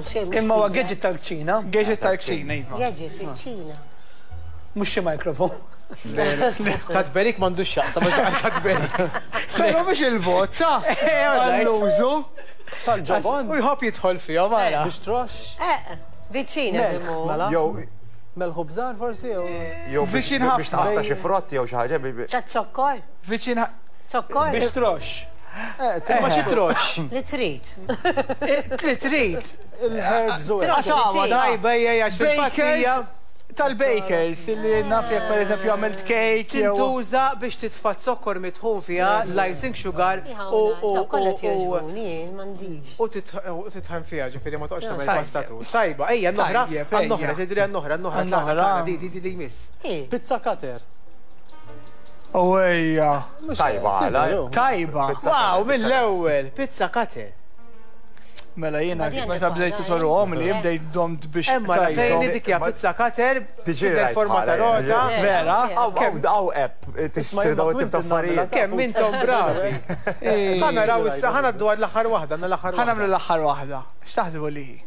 xi. Imma huwa gadget tal-kċina. Gadget tal-kċina, iva. Gadget fil-kċina. Mhux xi microphone. Ta' tberik m'għandux x'jaqsam, ta' tberik. Però mhux il-bot, ta' għall-użu. Tal-ġobon. U jħobb jidħol fihom ara. Biex trox. Viċina Mela. Jew melħu bżar forsi jew. Jew biex taqta' xi frott jew xi ħaġa. Ta' zokkor. Viċin Zokkor. Biex trox. Ma xi trox. Li trid. Li trid. Il-herbs u Għaxawa, tajba hija għax fil-fatt hija tal-bakers illi naf jekk pereżempju għamilt cake. Tintuża biex titfa' zokkor mitħun fiha, l-icing sugar u u titħen fiha, ġifieri ma toqgħodx tagħmel pastatur. Tajba, ejja n-noħra, għan-noħra, tgħidu li għan-noħra, n-noħra, di di di jmiss. Pizza cutter. Ejja. Tajba, għala. Tajba. Wow, mill-ewwel, pizza cutter. Mela jiena meta bdejtu toruhom li bdejt domt biex. Emma fejn dik hija pizza cutter, tidher forma ta' roża. Vera? Hawn hawn app tixtri dawn it-tip ta' affarijiet. Kemm intom bravi. Ħa naraw issa ħa ngħaddu għal l-aħħar waħda, għandna l-aħħar waħda. Ħa nagħmlu l-aħħar waħda. X'taħsbu li hi?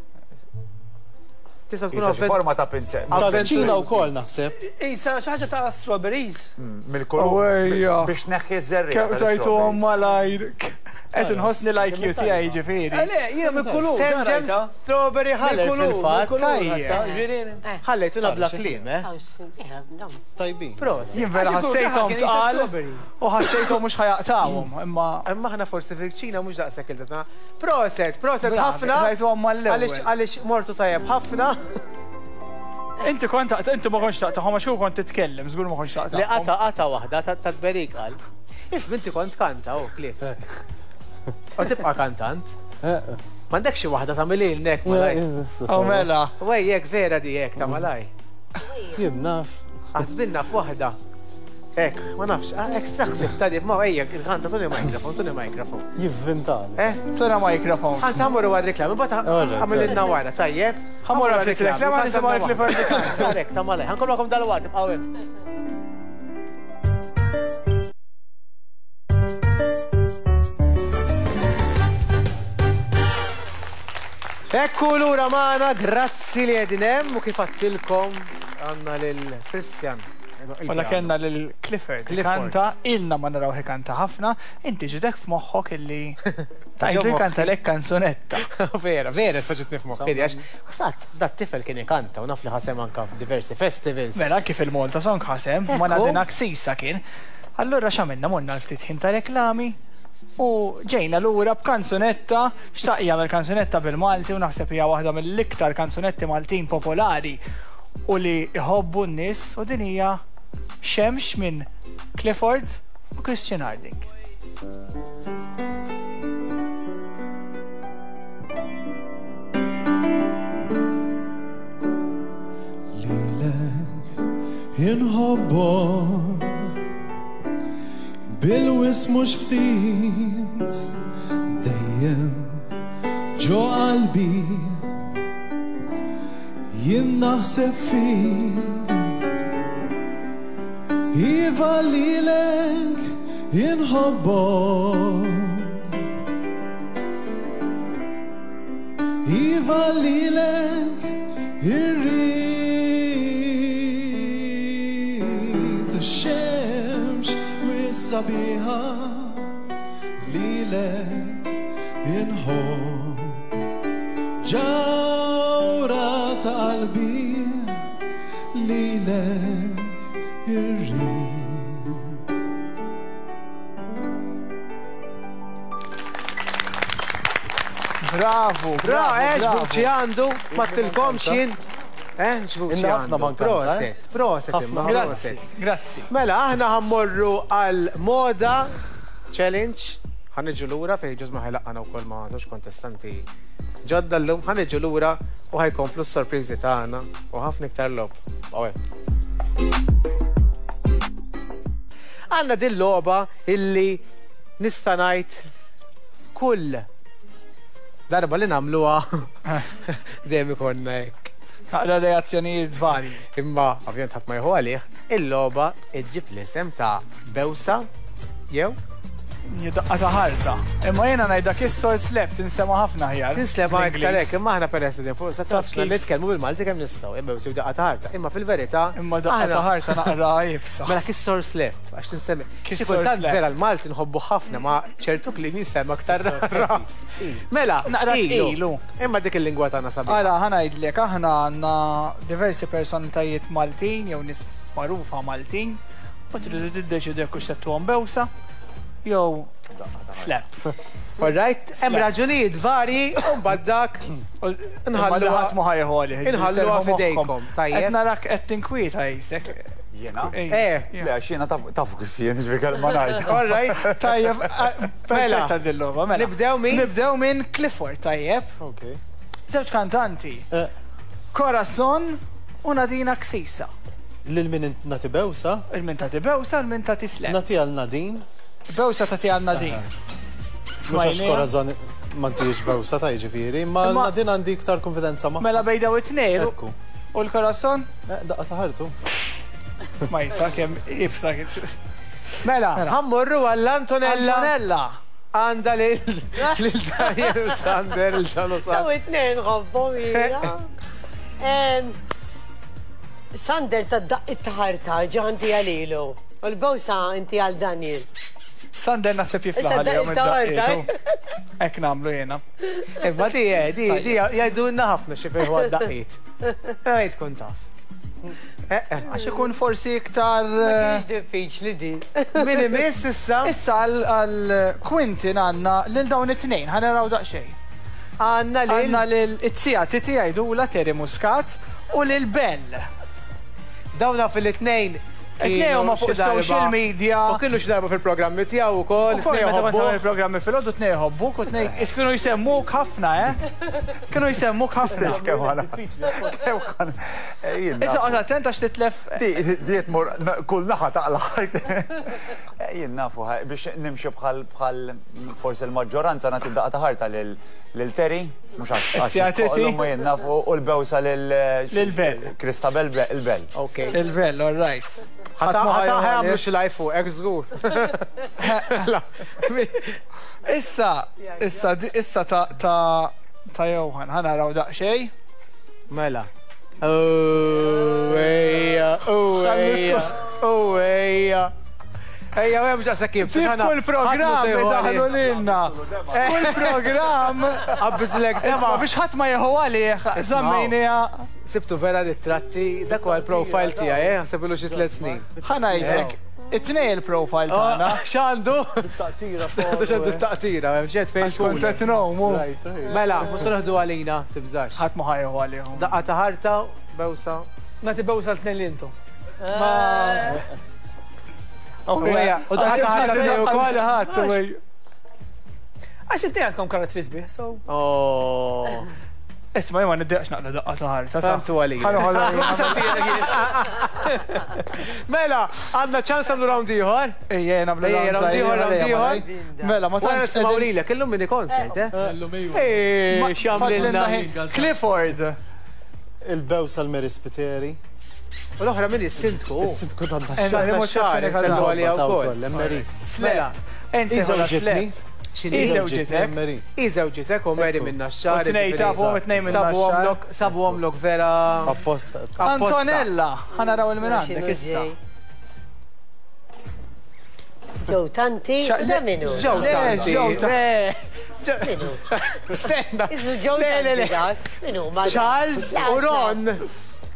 Tista' tkun Isa xi forma ta' pinzett. Tal-kċina wkoll naħseb. Isa xi ħaġa ta' strawberries. Mill-kulur. Biex tneħħi ż-żerriegħa. Kemm tajtuhom malajr. Qed inħossni l-IQ tiegħi ġifieri. Le, jiena mill-kulur. Stenġem strawberry ħalel fil-fatt. Ħallejtuna bla kliem, eh? Tajbin. Prosit. Jien vera ħassejthom tqal u ħassejthom mhux ħajaqtawhom, imma. Imma aħna forsi fil-kċina mhux daqshekk il-tatna. Proset, proset ħafna. Rajtuhom mal-ewwel. Għaliex għaliex mortu tajjeb ħafna. Inti kont taqta' inti ma kontx taqtagħhom għax hu kont titkellem, żgur ma kontx taqtagħhom. Le qata' qata' waħda tat-tberik qal. Isma' inti kont kanta oh Cliff. U tibqa' kantant. M'għandekx xi waħda tagħmililna hekk malaj. Oh mela. Wej jekk vera di hekk ta' malaj. Jien naf. Aħsbilna f'waħda. Hekk, ma nafx, hekk saħsib ta' ma ejja, il-kanta tuni mikrofon, tuni mikrofon. Jivvintali. Eh? Tuna mikrofon. Għanza ħamurru għal-reklami, bata għamililna wara, tajjeb. Ħamurru għal-reklami, nisimgħu l-Clifford. Għalek, ta' malaj. Ħankollkom dal-waqt, ibqgħu hemm. Ekku lura magħna, grazzi li qegħdin hemm u kif għattilkom għandna lil Christian. Wala kellna lil Clifford. Kanta ilna ma naraw kanta ħafna, inti ġidek f'moħħok illi tajdu kanta lek kanzunetta. Vera, vera, sa ġitni f'moħħi, għax sat dat tifel kien ikanta u naf li ħasem anka f'diversi festivals. Mela kif il-Malta Song ħasem, ma Nadina Ksisa kien. Allura x'għamilna morna l-ftit ħin ta' reklami u ġejna lura b'kanzunetta, xtaq jagħmel kanzunetta bil-Malti u naħseb hija waħda mill-iktar kanzunetti Maltin popolari u li jħobbu n-nies u din hija Xemx minn Clifford u Christian Harding. Lilek inħobbok bil-wis mhux ftit dejjem ġo qalbi jien naħseb fik. Iva lilek inħobbok. Iva lilek irrid ix-xemx wis-sabiħa lilek inħobb. Ġawra ta' qalbi lilek irrid. Bravo, Bra, eh, bravo. x'vuċi għandu, ma tilkomx jien. Eh, x'vuċi Inna ħafna għandu. ma nkanta, eh? Proset, proset, Ħafna. imma, Grazzi, proset. grazzi. Mela, aħna ħammorru għal moda challenge. Ħaniġu lura fejn ġużma ħajlaqqana wkoll ma' żewġ kontestanti ġodda llum. Ħaniġu lura u ħajkomplu s-sorpriżi tagħna u ħafna iktar logħob. Bqgħu hemm. Għandna din logħba illi nista' ngħid kull darba li nagħmluha dejjem ikollna hekk. Naqra reazzjonijiet varji. Imma ovvjament ħadd ma jieħu għalih, il-logħba iġġib l-isem ta' Bewsa jew Daqqa ta' ħarta. Imma jiena ngħidha kiss or slap tinsema' ħafna aħjar. Tinslema iktar Bl-Ingliż. hekk, imma aħna peress li fuq sa Taf tafx li kif. nitkellmu bil-Malti kemm nistgħu, imma jew daqqa ta' ħarta. Imma fil-verità Imma daqqa ta' aħna- ħarta naqra jibsa. Mela kiss or slap, għax tinsemmi. Kiss Xi or kultant slap. vera l-Malti nħobbu ħafna ma ċertu kliem jinsema aktar rara. Mela, Naqra tqilu. tqilu. Imma dik il-lingwa tagħna sabiħa. Ara, ħa ngħidlek, aħna għandna diversi personalitajiet Maltin jew nies magħrufa Maltin u tridu tiddeċidu jekk hux settuhom bewsa jew slap. All right, hemm raġunijiet varji u mbagħad dak Nħallu ħadd ma ħajħu għalih. Inħalluha f'idejkom, tajjeb. Qed narak qed tinkwieta jisek. Jiena? Eh. Le, għax jiena tafu kif jien, ġifieri kelma ngħid. All right. Tajjeb, perfetta dil-logħba, mela. Nibdew minn? Nibdew minn Clifford, tajjeb. Ok. Żewġ kantanti. Corazon u Nadina Ksisa. Lil min nati bewsa? Il-min tagħti bewsa, il-min tagħti slap. Nati għal Nadine. Bewsa tagħti għal Nadine. Mhux għax Smajniha. Corazon ma ntijiex bewsa ta' jiġifieri, ma Imma- Nadine għandi iktar konfidenza ma. Mela bejn daw it-tnejn. Ekku. U l-Corazon? Daqqa ta' ħartu. Majta kemm ibsa kif. Mela, ħammorru għall-Antonella. Antonella. Għanda lil lil Daniel u Sander, lil Dan u Daw Sander. it-tnejn ħobbhom jiena. Sander ta' daqq it-taħarta ġanti għalilu. U l-bowsa inti għal Daniel. Sander naħseb jiflaħ Inta għalihom daqq id-daqqiet. Hekk nagħmlu jiena. Imma di, eh, di, di, jgħidulna ħafna xi fejn huwa d-daqqiet. Ej, tkun taf. Għax ikun forsi iktar. Ma kienx diffiċli di. Min imiss issa? Issa għal Quintin għandna lil dawn it-tnejn, ħa naraw daqsxejn. Għandna lil Għandna lil it-tija Titi għajdula Terry Muscat u lil Bell. Dawna fil-tnejn. It-tnejn huma fuq social media. U kienu xi darba fil-programmi tiegħu wkoll. Ukoll it-tnejn meta kont ħobbuh. tagħmel il-programmi filgħodu tnejn jħobbuk u tnejn kienu jsemmuk ħafna, eh? Kienu jsemmuk ħafna. Kemm ħana. Kemm ħana. Jien Issa qgħod attent għax titlef. Di di tmur kull naħa taqla' Jien nafu biex nimxi bħal bħal forsi l-maġġoranza nagħti daqqa ta' ħarta lil lil Terry, mhux għax għax jistħoqlu imma jien nafu u l-bewsa lil Lil Bell. Christabel il-Bell. Ok. Il-Bell, all right. Ħa jagħmlu xi live fuqek żgur. Issa, issa, issa ta' ta' ta' Johan, ħa naraw daqsxejn. Mela. Oh, ejja, oh, ejja, oh, ejja. Ejja, mhux daqshekk iebsa. Kif kull programm idaħħlu lilna. Kull programm. Qabbiżlek dema. Biex ħadd ma jieħu għalih, żammejniha. Sibtu vera ritratti, dak huwa l-profile tiegħi, eh, ħseb ilu xi tliet snin. Ħa ngħidlek, it-tnej il-profile tagħna. X'għandu? Taqtira. X'għandu t-taqtira, hemm xi fejn kont qed ngħumu. Mela, mhux se noħdu għalina, tibżax. Ħadd ma ħa jieħu għalihom. Daqqa ta' ħarta, bewsa. Nagħti bewsa l-tnejn li intom. U daqqa ta' ħarta tnejn ukoll. Għax it-tnejn għandkom karattri sbieħ, so. Oh. Isma' jien ma niddejqx naqla' daqqa ta' ħarta. Tantu għalija. Mela, għandna ċans nagħmlu round ieħor? Ejja, nagħmlu round ieħor, round ieħor. Mela, ma tantx nisimgħu lilek, illum mini konsent, eh? Illum iva. X'għamlilna? Clifford. Il-bewsa l-Mary Spiteri. U l-oħra min is-sindku? Is-sindku tan-Naxxar. Mela, Iżewġitni. X'inhi? Iżewġitek. Iżewġitek u Mary minn Naxxar. U tnej tafu tnej minn Naxxar. Sabu għomlok vera. Apposta. Antonella, ħa naraw il-min għandek issa. Ġew tanti, da minu? Ġew tanti. Minu? Stenna. Iżu ġew tanti dak. Minu? Charles u Ron.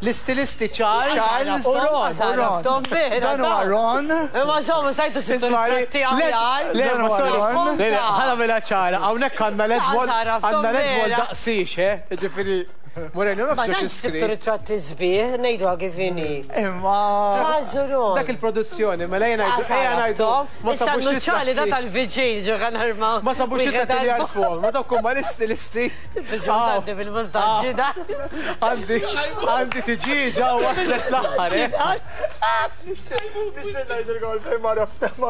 L-istilisti Charles, Charles u Ron. Ron. Dan huwa Ron. Imma insomma stajtu sibtu ritratti aħjar. Le, ma sorry. Ħa nagħmilha ċara, hawnhekk għandna ledwol. Għandna ledwol daqsix, eh? Ġifieri. Moreno, ma tantx sibtu ritratti sbieħ, ngħiduha kif inhi. Imma. Charles u Ron. Dak il-produzzjoni, mela jena ngħidu. Ma sabux ċali da tal-viġin ġo arma. Ma sabux ritratti li għarfuhom, ma dawk huma l-istilisti. Għandi bil-mustaċċi da. Għandi, għandi tiġiġa u waslet l-aħħar, eh? Nixtieq ngħidilkom għalfejn ma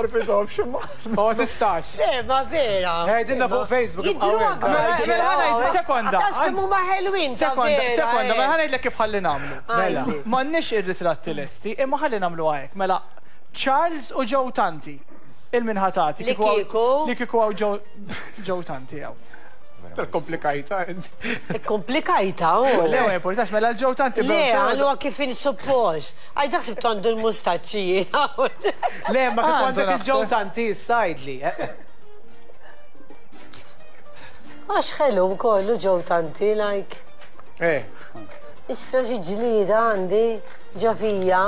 rafithomx imma. Ma tistax. Le, ma vera. Għidilna fuq Facebook. Jidhru akbar. Mela ħa ngħid sekonda. Daqs kemm huma ħelwin ta' Sekonda, vera. sekonda, mela ħa ngħidlek kif ħalli nagħmlu. Mela. M'għandniex ir-ritratti lesti, imma ħalli nagħmluha hekk. Mela, Charles u Joe Tanti. Il-min ħa tagħti? Li kieku. Li kieku hawn Joe Tanti hawn. Komplikajta inti. Komplikajta, u. Le, ma jimpurtax, mela l-ġew tanti. Le, għallu kif in suppost. Għaj daħsib għandu l-mustaċċi. Le, ma kif għandek il-ġew tanti, sajdli. Għax ħelu kollu ġew tanti, like. Eh. Issa xi ġlida għandi ġafija.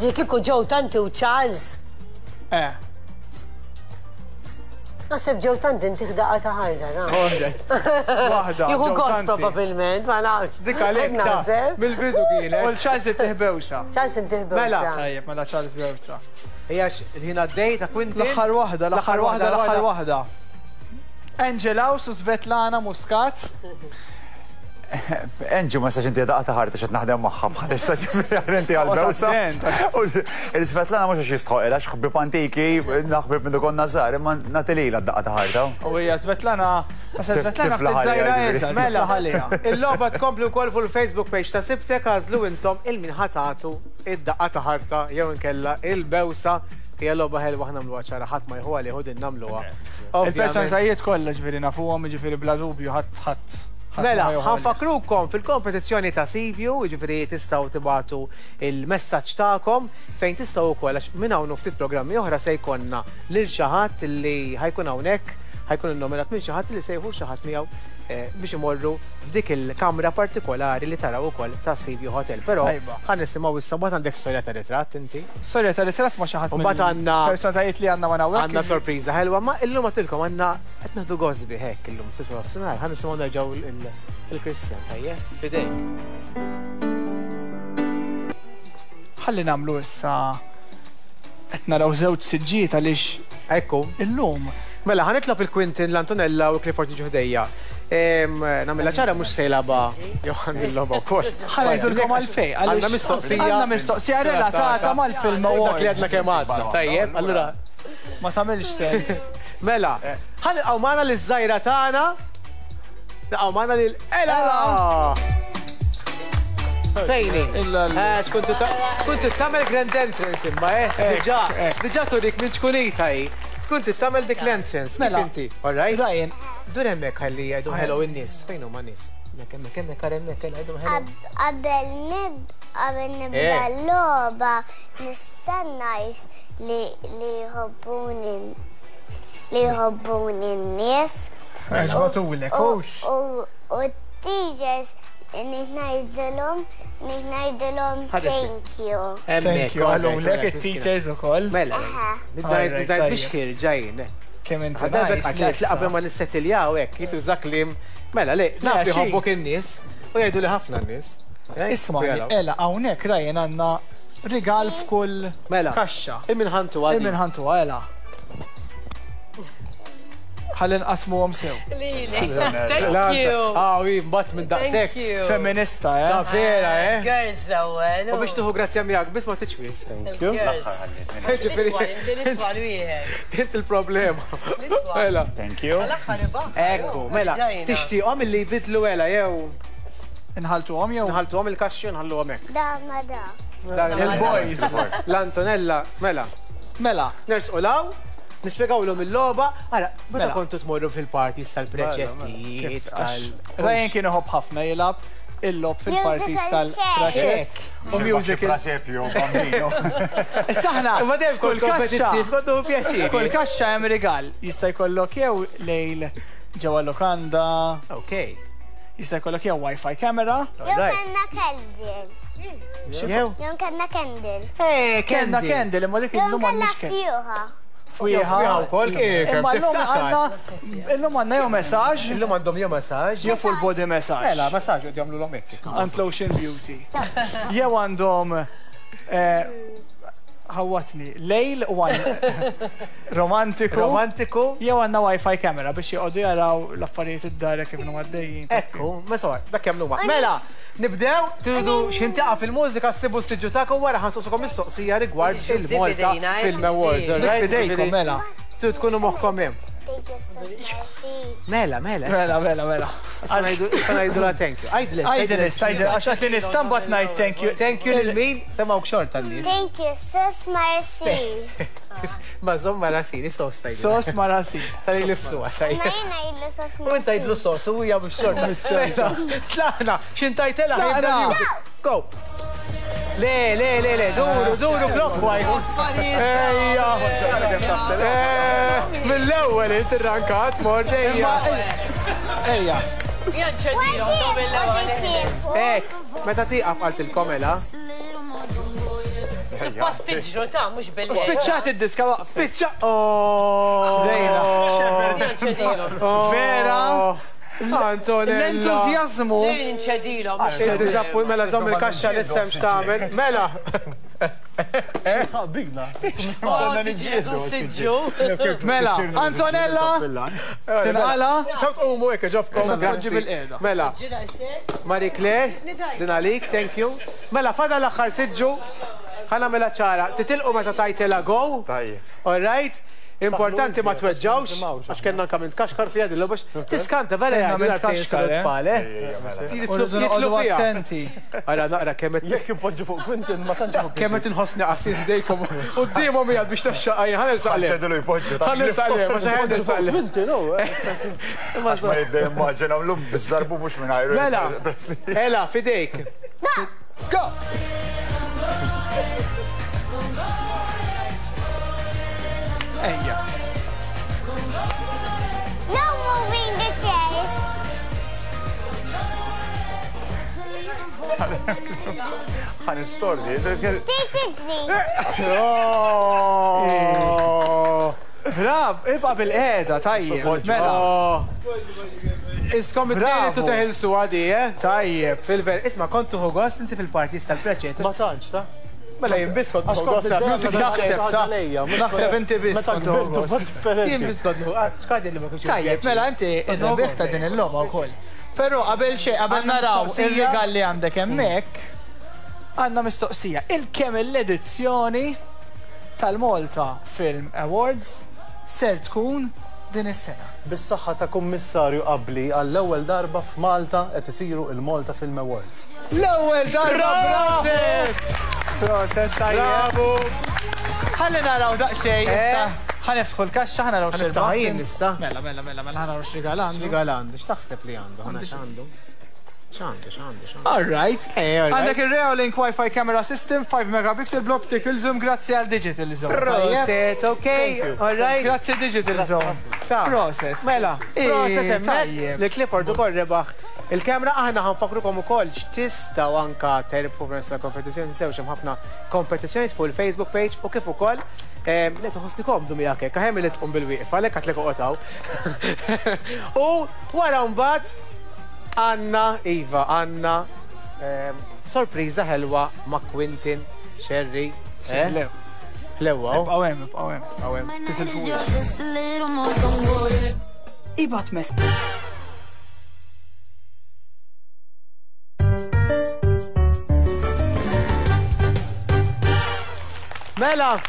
Ġi kieku ġew tanti u Charles. Eh. Naħseb ġew tant intih daqqa ta' ħarda, na. Waħda. Jieħu gost probabbilment, ma nafx. Dik għalhekk ta' mill-bidu kienet. U l-Charles intih bewsa. Charles intih bewsa. Mela. Tajjeb, mela Charles bewsa. Hija il-ħin għaddej ta' Quintin. L-aħħar waħda, l-aħħar waħda, l-aħħar waħda. Angela u Svetlana Muscat. Angie ma nistax inti daqqa ta' ħarta x'qed naħdem magħha bħalissa ġifieri għal inti għal bewsa. U l-Svetlana mhux għax jistħoqilha għax ħbieb antiki, naħbib minn konna żgħar, imma nagħti lilha d-daqqa ta' ħarta. U hija Svetlana, Svetlana ftit żgħira iżgħar. Mela, il-logħba tkompli wkoll fuq il-Facebook page ta' Sibtek għażlu intom il min ħa tagħtu id-daqqa ta' ħarta jew inkella il-bewsa. Hija logħba ħelwa aħna nagħmluha ċara ħadd ma jieħu għalih u din nagħmluha. Il-personalitajiet kollha ġifieri nafuhom, jiġifieri bla dubju ħadd ħadd Mela, ħa nfakkrukom fil-kompetizzjoni ta' Seaview, jiġifieri tistgħu tibagħtu il-messaġġ tagħkom fejn tistgħu wkoll għax minn hawn u ftit programmi oħra se jkollna lil xi ħadd li ħa jkun hawnhekk, ħa jkun innominat minn xi ħadd li se jieħu xi ħadd miegħu biex imorru f'dik il-kamra partikolari li taraw ukoll ta' Seaview Hotel. Però ħa nisimgħu issa mbagħad għandek storja ta' ritratt inti. Storja ta' ritratt ma' xi ħadd mill-personalitajiet li għandna magħna hawnhekk. Għandna sorpriża ħelwa, ma illum għedtilkom għandna Qed nieħdu gost bih hekk illum sitt wara nofsinhar, ħa nisimgħu nerġgħu il-Christian, tajjeb? F'idejk. Ħalli nagħmlu issa qed naraw żewġ siġġijiet għaliex Ekku. Illum. Mela, ħa nitlob il-Quintin, l-Antonella u l-Clifford jiġu ħdejja. Nagħmilha ċara mhux se jilgħabha Johan il-logħba wkoll. Ħa ngħidulkom għalfejn. Għandna mistoqsija. Għandna mistoqsija relatata mal-Film Awards. Dak li għadna kemm għadna. Tajjeb, allura. Ma tagħmilx sens. Mela, ħa nilqgħu magħna liż-żgħira tagħna. Nilqgħu magħna lil Ela! Fejni? Eh, tkun tagħmel grand entrance imma, eh? Diġà, diġà turik minn ċkunita hi. Tkun tagħmel dik l-entrance. Mela. Inti, all right? Ryan. Dur hemmhekk ħalli jgħidu hello in-nies. Fejn huma n-nies? Hemmhekk, hemmhekk, hemmhekk, ara hemmhekk, jgħidu hello. Qabel nib, qabel nibda eh. l-logħba nista' ngħid li li jħobbuni li jħobbuni n-nies. Għaġbatulek, U t-teachers ngħidilhom ngħidilhom thank you. Thank you, għalulek it-teachers ukoll. Mela, nibda biex ħirġa jien. Kemm inti nice. Qabel ma nissettiljaw hekk, jituża kliem. Mela, le, naf li jħobbok in-nies u jgħidu li ħafna n-nies. Isma' Ela, hawnhekk Ryan għandna rigal f'kull mela, kaxxa. Il-minħantu għal. Il-minħantu Ela. Ħalli nqasmuhom sew. Thank you. Ah, u mbagħad minn daqshekk. Feminista, eh? Ta' vera, eh? Girls l-ewwel. U biex tieħu grazzja miegħek biss ma tiċwis. Thank you. L-itwal wieħed. Int il-problema. Mela. Thank you. Ekku, mela, tixtieqhom illi jbidlu ela jew Inħaltuhom jew? Nħaltuhom il-kaxxi u nħalluhom hekk. Da ma da. Il-boys. L-Antonella, mela. Mela. Nersqu law, nispjegawlhom il-logħba. Ara, meta kontu tmorru fil-parties tal-preċettijiet, tal. Ryan kien iħobb ħafna jilgħab il-logħob fil-parties tal-preċett. U musical. Presepju, bambino. Issa aħna. Ma dejjem kont kompetittiv, kont nieħu pjaċir. Kull kaxxa hemm rigal. Jista' jkollok jew lejl ġewwa lukanda. Ok. Jista' jkollok jew Wi-Fi camera. Jew kellna candle. Jew? Jew kellna candle. Eh, Kellna candle imma dik Jew illum kellna m'għandniex candle. fjuħa. Fwieħa. Fwieħa wkoll, kif, Imma llum tiftakar. għandna illum għandna jew messaġġ. Illum għandhom jew massage. Jew full body massage. Mela, massage qed jagħmlu hekk. Għand Lotion Beauty. Jew għandhom ħawatni, lejl u romantiku. Romantiku. Jew għandna Wi-Fi camera biex joqogħdu jaraw l-affarijiet id-dar kif huma għaddejjin. Ekku, ma sor, dak jagħmlu ma. Mela, nibdew, tridu x'intaqa' fil-mużika ssibu s-siġġu tagħkom wara ħansuqsukom mistoqsija rigward il-Malta Film Awards. Dik fidejkom, mela. Tridu tkunu moħħkom hemm. Thank you so much. Mela, mela. Mela, mela, mela. Issa ngħidu la thank you. Għajdli, Għajdli, għajdli, għax għatli nistambat ngħid thank you. Thank you lil min semgħu xorta n-nies. Thank you, sus Marcy. Ma żomm ma rasini, sos tajdu. Sos ma rasini. Tal nifsu għataj. Ma jien ngħidlu sus U inta jidlu sos, u hija mhux xorta. Tlaqna, x'intajtela ħajbda music. Go. Le, le, le, le, duru, duru clockwise. Ejja. Mill-ewwel inti rankat mort ejja. Ejja. Ek, meta tieqaf qaltilkom ela. Suppost tiġru ta' mhux bil Spiċċat id-diska waqf. Spiċċa. Oh. Vera. Antonella. L-entużjażmu. Inċedilhom. Diżappunt mela żomm il-kaxxa l-isem x'tagħmel. Mela. Bigna. Siġġu. Mela, Antonella. Tinqala. ċaw tqumu hekk ġobkom. Grazzi bil-qiegħda. Mela. Marie Claire, din għalik, thank you. Mela, fada l-aħħar siġġu. Ħana mela ċara, titilqu meta tajtela go. Tajjeb. All right. Importanti ma tweġġawx, għax kellna anka minn tkaxkar fiha din l-logħba. Tiskanta vera jgħidu l-artejn tfal, eh? Jitlu fiha. Attenti. Ara naqra kemm qed Jekk ipoġġu fuq Quintin ma tantx fuq kemm qed inħossni qasir ħdejkom quddiemhom qiegħed biex taxxaqqa jien ħanersaq le. Ċedilu jpoġġu. Ħanersaq le, ma xi ħanersaq le. Quintin, oh. Ma jibda jimmaġina l-lum bizzarbu mhux minn ajru. Mela, Ela, fidejk. Go! Ejja. No moving the chairs. Ħan istordi. Trid tiġri. Oh. Brav, ibqa bil-qiegħda, tajjeb. Mela. Iskom it-tnejn tu teħilsu għadi, eh? Tajjeb. Fil-ver, isma' kont tuħu gost inti fil-parties tal-preċet. Ma tantx, ta? Mela jien biss kont Għax kont Music Naħseb naħseb inti biss. Meta kbirt u differenti. Jien biss kont xkadi li ma kienx. Tajjeb, mela inti ir-rebbieħ ta' din il-logħba wkoll. Però qabel xejn qabel naraw ir-rigal li għandek hemmhekk, għandna mistoqsija. Il-kemm l-edizzjoni tal-Malta Film Awards ser tkun din is-sena? Bis-saħħa ta' kummissarju qabli għall-ewwel darba f'Malta qed isiru il-Malta Film Awards. L-ewwel darba proset! Proset tajjeb. Bravo! Ħalli naraw daqsxejn. Ħa niftħu l-kaxxa, ħa naraw x'irbaħ. jien nista'. Mela, mela, mela, mela ħa naraw x'rigal għandu. X'rigal għandu? X'taħseb li għandu? Ħana x'għandu? X'għandu, x'għandu, x'għandu? All right. Għandek il-Reolink Wi-Fi Camera System 5 megapixel bl-optical zoom grazzi għal Digital Zone. Proset, ok, all right. Grazzi Digital Zone. Proset. Mela, proset hemmhekk li Clifford ukoll rebaħ il-kamera. Aħna ħa nfakkrukom ukoll x'tistgħu anka terbħu permezz tal-kompetizzjoni, tinsewx hemm ħafna kompetizzjonijiet fuq il-Facebook page u kif ukoll le tħossni komdu miegħek hekk, aħjar milli tqum bil-wieqfa, għalhekk għedtlek oqgħod hawn. U wara mbagħad għandna iva, għandna sorpriża ħelwa ma' Quinton Scerri. Ħlewwa. Ibqgħu hemm, ibqgħu hemm. Ibqgħu hemm. Titilfux. Ibgħat mess. Mela,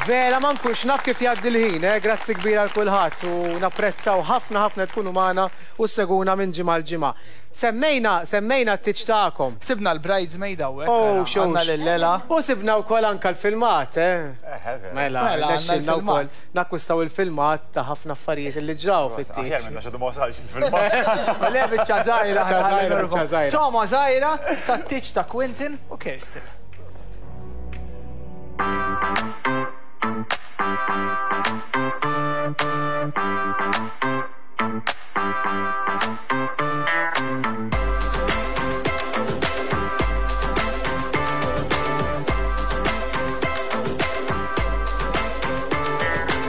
vera ma nkunx naf kif jgħaddi l-ħin, eh? Grazzi kbira għal kulħadd u napprezzaw ħafna ħafna tkunu magħna u ssegwuna minn ġimgħa l ġimgħa. Semmejna, semmejna t-tieġ tagħkom. Sibna l-bridesmaid hawnhekk. Oh, xux. Għandna lil Lela. U sibna wkoll anka l-filmat, eh? Mela, Mela, għandna rnexxielna wkoll l-filmat. nakkwistaw il-filmat ta' ħafna affarijiet li ġraw fit-tieġ. Aħjar minna xadu ma wasalx il-filmat. Le biċċa żgħira, Biċċa żgħira, biċċa żgħira. Toma żgħira tat-tieġ ta' Quinton u Kirsten.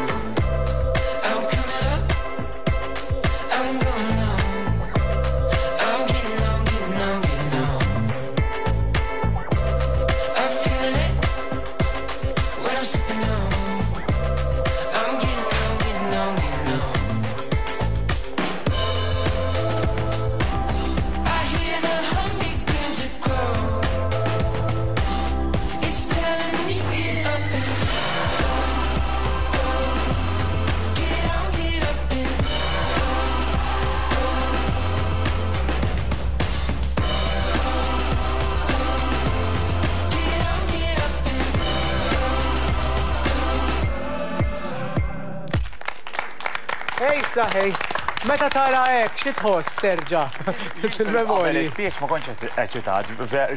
I'm coming up, I'm going on. I'm getting on, getting on, getting on. I'm feeling it when I'm sipping on. I'm getting on, getting on, getting on. I hear the hum begin to grow. It's telling me get up and go, go. Get on, get up and go, go. Get on, get up and Ej, saħej, meta tara hekk, xi tħoss terġa' fil-memorji? It-tieġ ma kontx eċitat,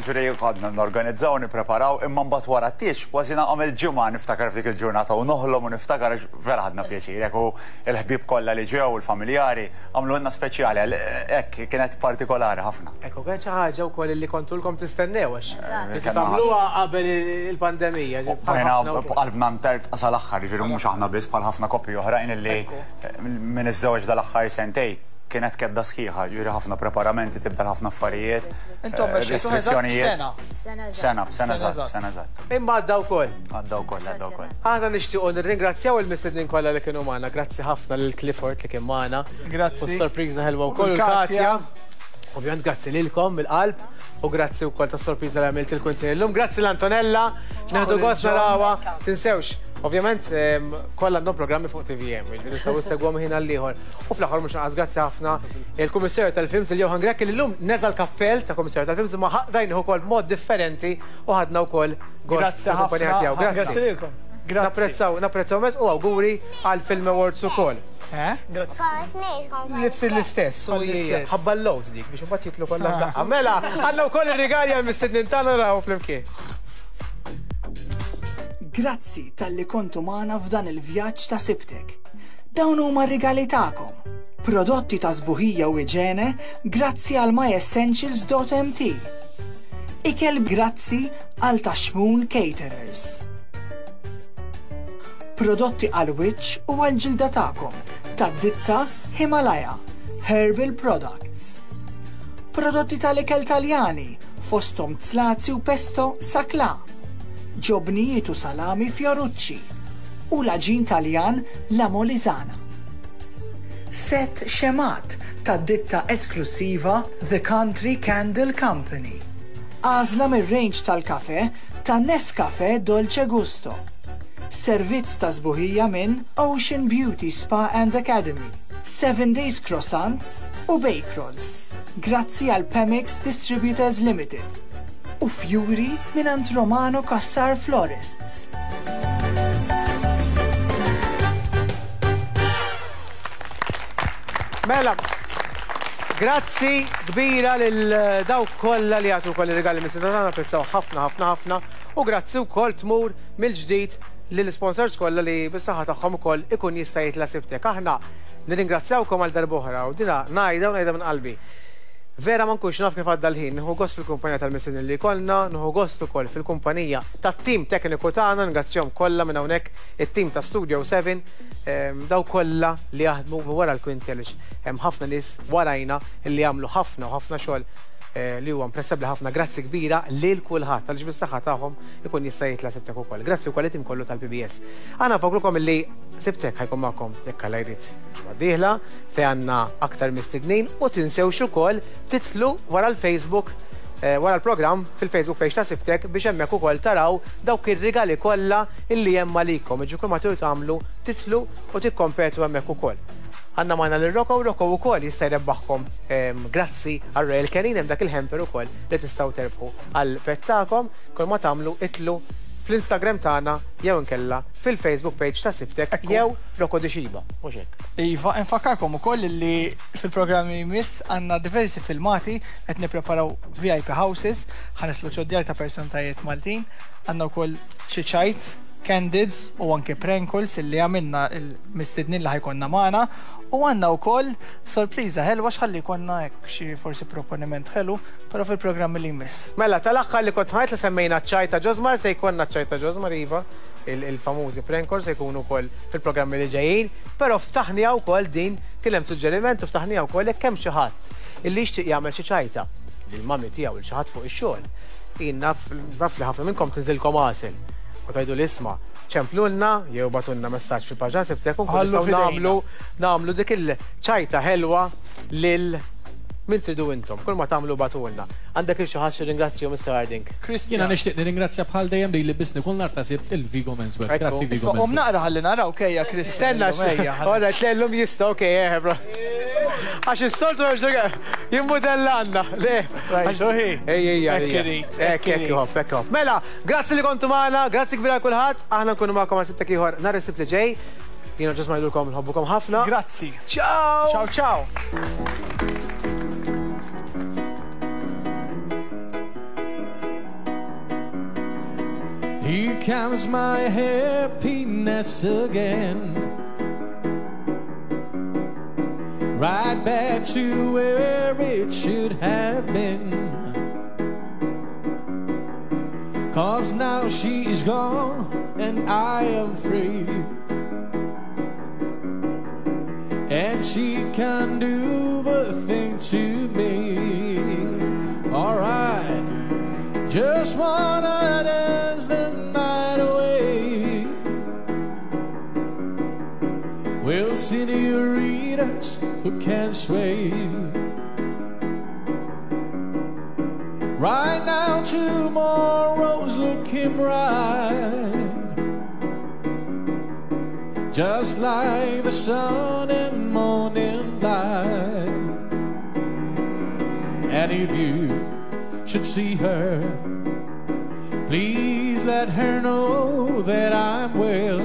ġuri għadna norganizzaw, nippreparaw, imma mbagħad wara t-tieġ kważi nagħmel ġimgħa niftakar f'dik il-ġurnata u noħlom u niftakar għax vera ħadna pjaċir, hekk u l-ħbieb kollha li ġew, il-familjari, għamlulna speċjali, hekk kienet partikolari ħafna. Ekku, kien xi ħaġa wkoll li kontulkom tistennew għax li tagħmluha qabel il-pandemija. Bajna b'qalbna mtertqa sal-aħħar, jiġifieri mhux aħna biss bħal ħafna koppji oħrajn illi minn iż-żewġ dal-aħħar sentej kienet kedda sħiħa, jiġifieri ħafna preparamenti, tibdel ħafna affarijiet, Intom mexxejtu eżatt restrizzjonijiet. sena. Sena, sena eżatt, sena eżatt. Imma għadda wkoll. Għadda wkoll, għadda wkoll. Aħna nixtiequ nirringrazzjaw il-mistednin kollha li kienu magħna. Grazzi ħafna lil Clifford li kien magħna. Grazzi. U s-sorpriża ħelwa wkoll U Katja. Ovvjament grazzi lilkom mill-qalb u grazzi wkoll tas-sorpriża li għamilt il-Quinton illum. Grazzi l-Antonella, nieħdu gost narawha. Tinsewx, ovvjament kollha għandhom programmi fuq TVM, jiġifieri tistgħu issegwhom ħin għal ieħor. U fl-aħħar mhux inqas grazzi ħafna il-Kummissarju tal-Films il Johan Grech li llum neża l-kappell ta' Kummissarju tal-Films imma rajnih ukoll b'mod differenti u ħadna wkoll gost Grazzi tal-kumpanija ħafna. tiegħu. Grazzi. Grazzi lilkom. Grazzi. Napprezzaw, napprezzaw mezz u awguri għal Film Awards ukoll. Eh? Libsi l-istess, u l-istess. ħabba l-load dik biex imbagħad jitlu kollha f'daqqa. Mela, għandna wkoll ir-rigali għal mistednin tagħna naraw flimkien. Grazzi talli kontu magħna f'dan il-vjaġġ ta' Sibtek. Dawn huma r-rigali tagħkom. Prodotti ta' sbuħija u iġene grazzi għal myessentials.mt. Ikel grazzi għal Taxmun Caterers. Prodotti għal wiċċ u għal ġilda tagħkom tad-ditta Himalaya Herbal Products. Prodotti tal-ikel Taljani fosthom zlazi u pesto Saclà, ġobnijiet u salami Fiorucci u l-għaġin Taljan La Molisana. Sett xemgħat tad-ditta esklussiva The Country Candle Company. Għażla mir-range tal-kafè ta' Nescafè Dolce Gusto. Servizz ta' sbuħija minn Ocean Beauty Spa and Academy, 7 Days Croissants u Bake Rolls, grazzi għal Pemix Distributors Limited, u fjuri mingħand Romano Cassar Florists. Mela, grazzi kbira lil dawk kollha li jagħtu wkoll ir-rigali mis-sidna tagħna, napprezzaw ħafna ħafna ħafna u grazzi wkoll tmur mill-ġdid lill-isponsors kollha li bis-saħħa tagħhom ukoll ikun jista' jitla' Sibtek. Aħna nirringrazzjawkom għal darb'oħra u dina ngħidha u ngħidha minn qalbi. Vera ma nkunx naf kif għadda l-ħin, nieħu gost fil-kumpanija tal-mistednin li jkollna, nieħu gost ukoll fil-kumpanija tat-tim tekniku tagħna, ningrazzjahom kollha minn hawnhekk, it-tim ta' Studio 7, dawk kollha li jaħdmu minn wara l-kwinti għaliex hemm ħafna nies warajna li jagħmlu ħafna u ħafna xogħol li huwa imprezzabbli ħafna. Grazzi kbira lil kulħadd għaliex bis-saħħa tagħhom ikun jista' jitla' Sibtek ukoll. Grazzi wkoll lit-tim kollu tal-PBS. Aħna nfakkrukom illi Sibtek ħa jkun magħkom jekk Alla jrid ġimgħa d-dieħla fejn għandna aktar mistednin u tinsewx ukoll titlu wara l-Facebook wara l-programm fil-Facebook page ta' Sibtek biex hemmhekk ukoll taraw dawk ir-rigali kollha illi hemm għalikom. Jiġifieri kull ma tridu tagħmlu titlu u tikkompetu hemmhekk ukoll. Għandna magħna lil Rocco, Rocco wkoll jista' jrebbaħkom grazzi għal Royal Canin hemm dak il-hamper ukoll li tistgħu terbħu għall-pet tagħkom. Kull ma tagħmlu itlu fl-Instagram tagħna jew inkella fil-Facebook page ta' Sibtek jew Rocco Di Xiba, mhux hekk? Iva, infakkarkom ukoll li fil-programm li jmiss għandna diversi filmati qed nippreparaw VIP houses, ħa nidħlu ġod-djar ta' persontajiet Maltin, għandna wkoll xi ċajt, candids u anke prank calls illi għamilna l-mistednin li ħa jkollna magħna u għandna wkoll sorpriża ħelwa x'ħalli jkollna hekk xi forsi proponiment ħelu, però fil-programm li jmiss. Mela, tal-aħħar li kont ħadt li semmejna ċ-ċajt ta' Josmar, se jkollna ċ-ċajt ta' Josmar iva, il-famużi prank calls se jkunu wkoll fil-programmi li ġejjin, però ftaħniha wkoll din, kien hemm suġġeriment u ftaħniha wkoll jekk hemm xi ħadd illi jixtieq jagħmel xi ċajta lill-mummy tiegħu lil xi ħadd fuq ix-xogħol. Jien naf naf li ħafna minnkom tinżilkom għasel u tgħiduli isma' ċemplulna jew bagħtulna messaġġ fil-paġna Sibtek u nkunu nistgħu nagħmlu nagħmlu dik il-ċajta ħelwa lil min tridu intom. Kull ma tagħmlu bagħtulna. Għandek lil xi ħadd xi ringrazzju Mr. Harding? Jiena nixtieq nirringrazzja bħal dejjem lili biss kull nhar ta' Sibt il-Vigo Menswear. Grazzi Vigo Menswear. Qum naqra ħalli naraw kejja Christian. Stenna, ora tlellum jista' okej, eh, bro. Għax is-soltu jimmudellanna. Le. Ej, ej, ej. Hekk, hekk, hop, hekk, hop. Mela, grazzi li kontu magħna, grazzi kbira kulħadd. Aħna nkunu magħkom għal Sibtek ieħor nhar is-Sibt li ġej. Jiena ġust ma ngħidulkom nħobbukom ħafna. Grazzi. Ciao. Ciao, ciao. Here comes my happiness again. Right back to where it should have been. Cause now she's gone and I am free. And she can do a thing to me. Alright, just wanna dance the night away. We'll see the readers who can sway. Right now tomorrow's looking bright, just like the sun and morning light. And if you should see her, please let her know that I'm well.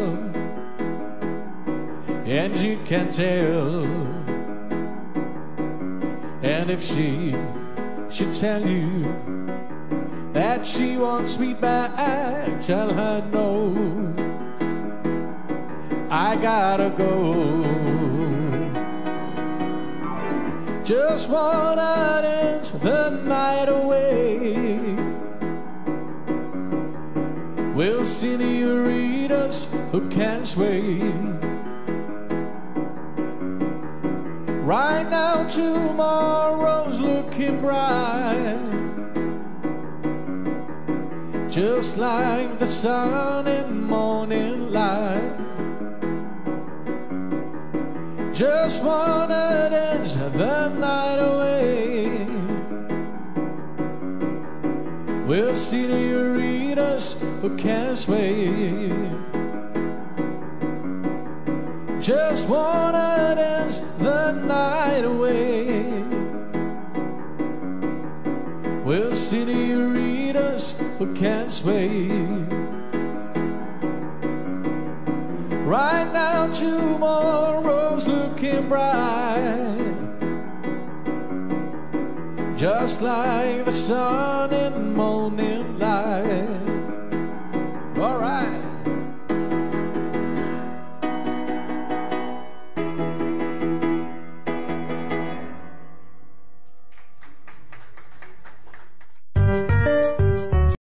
And you can tell. And if she should tell you that she wants me back, tell her no, I gotta go. Just wanna dance the night away. We'll see the readers who can't sway. Right now tomorrow's looking bright, Just like the sun in morning light. Just wanna dance the night away. We'll see the readers who can't sway. Just wanna dance the night away. We'll see the readers who can't sway. Right now, tomorrow's looking bright. Just like the sun in morning light.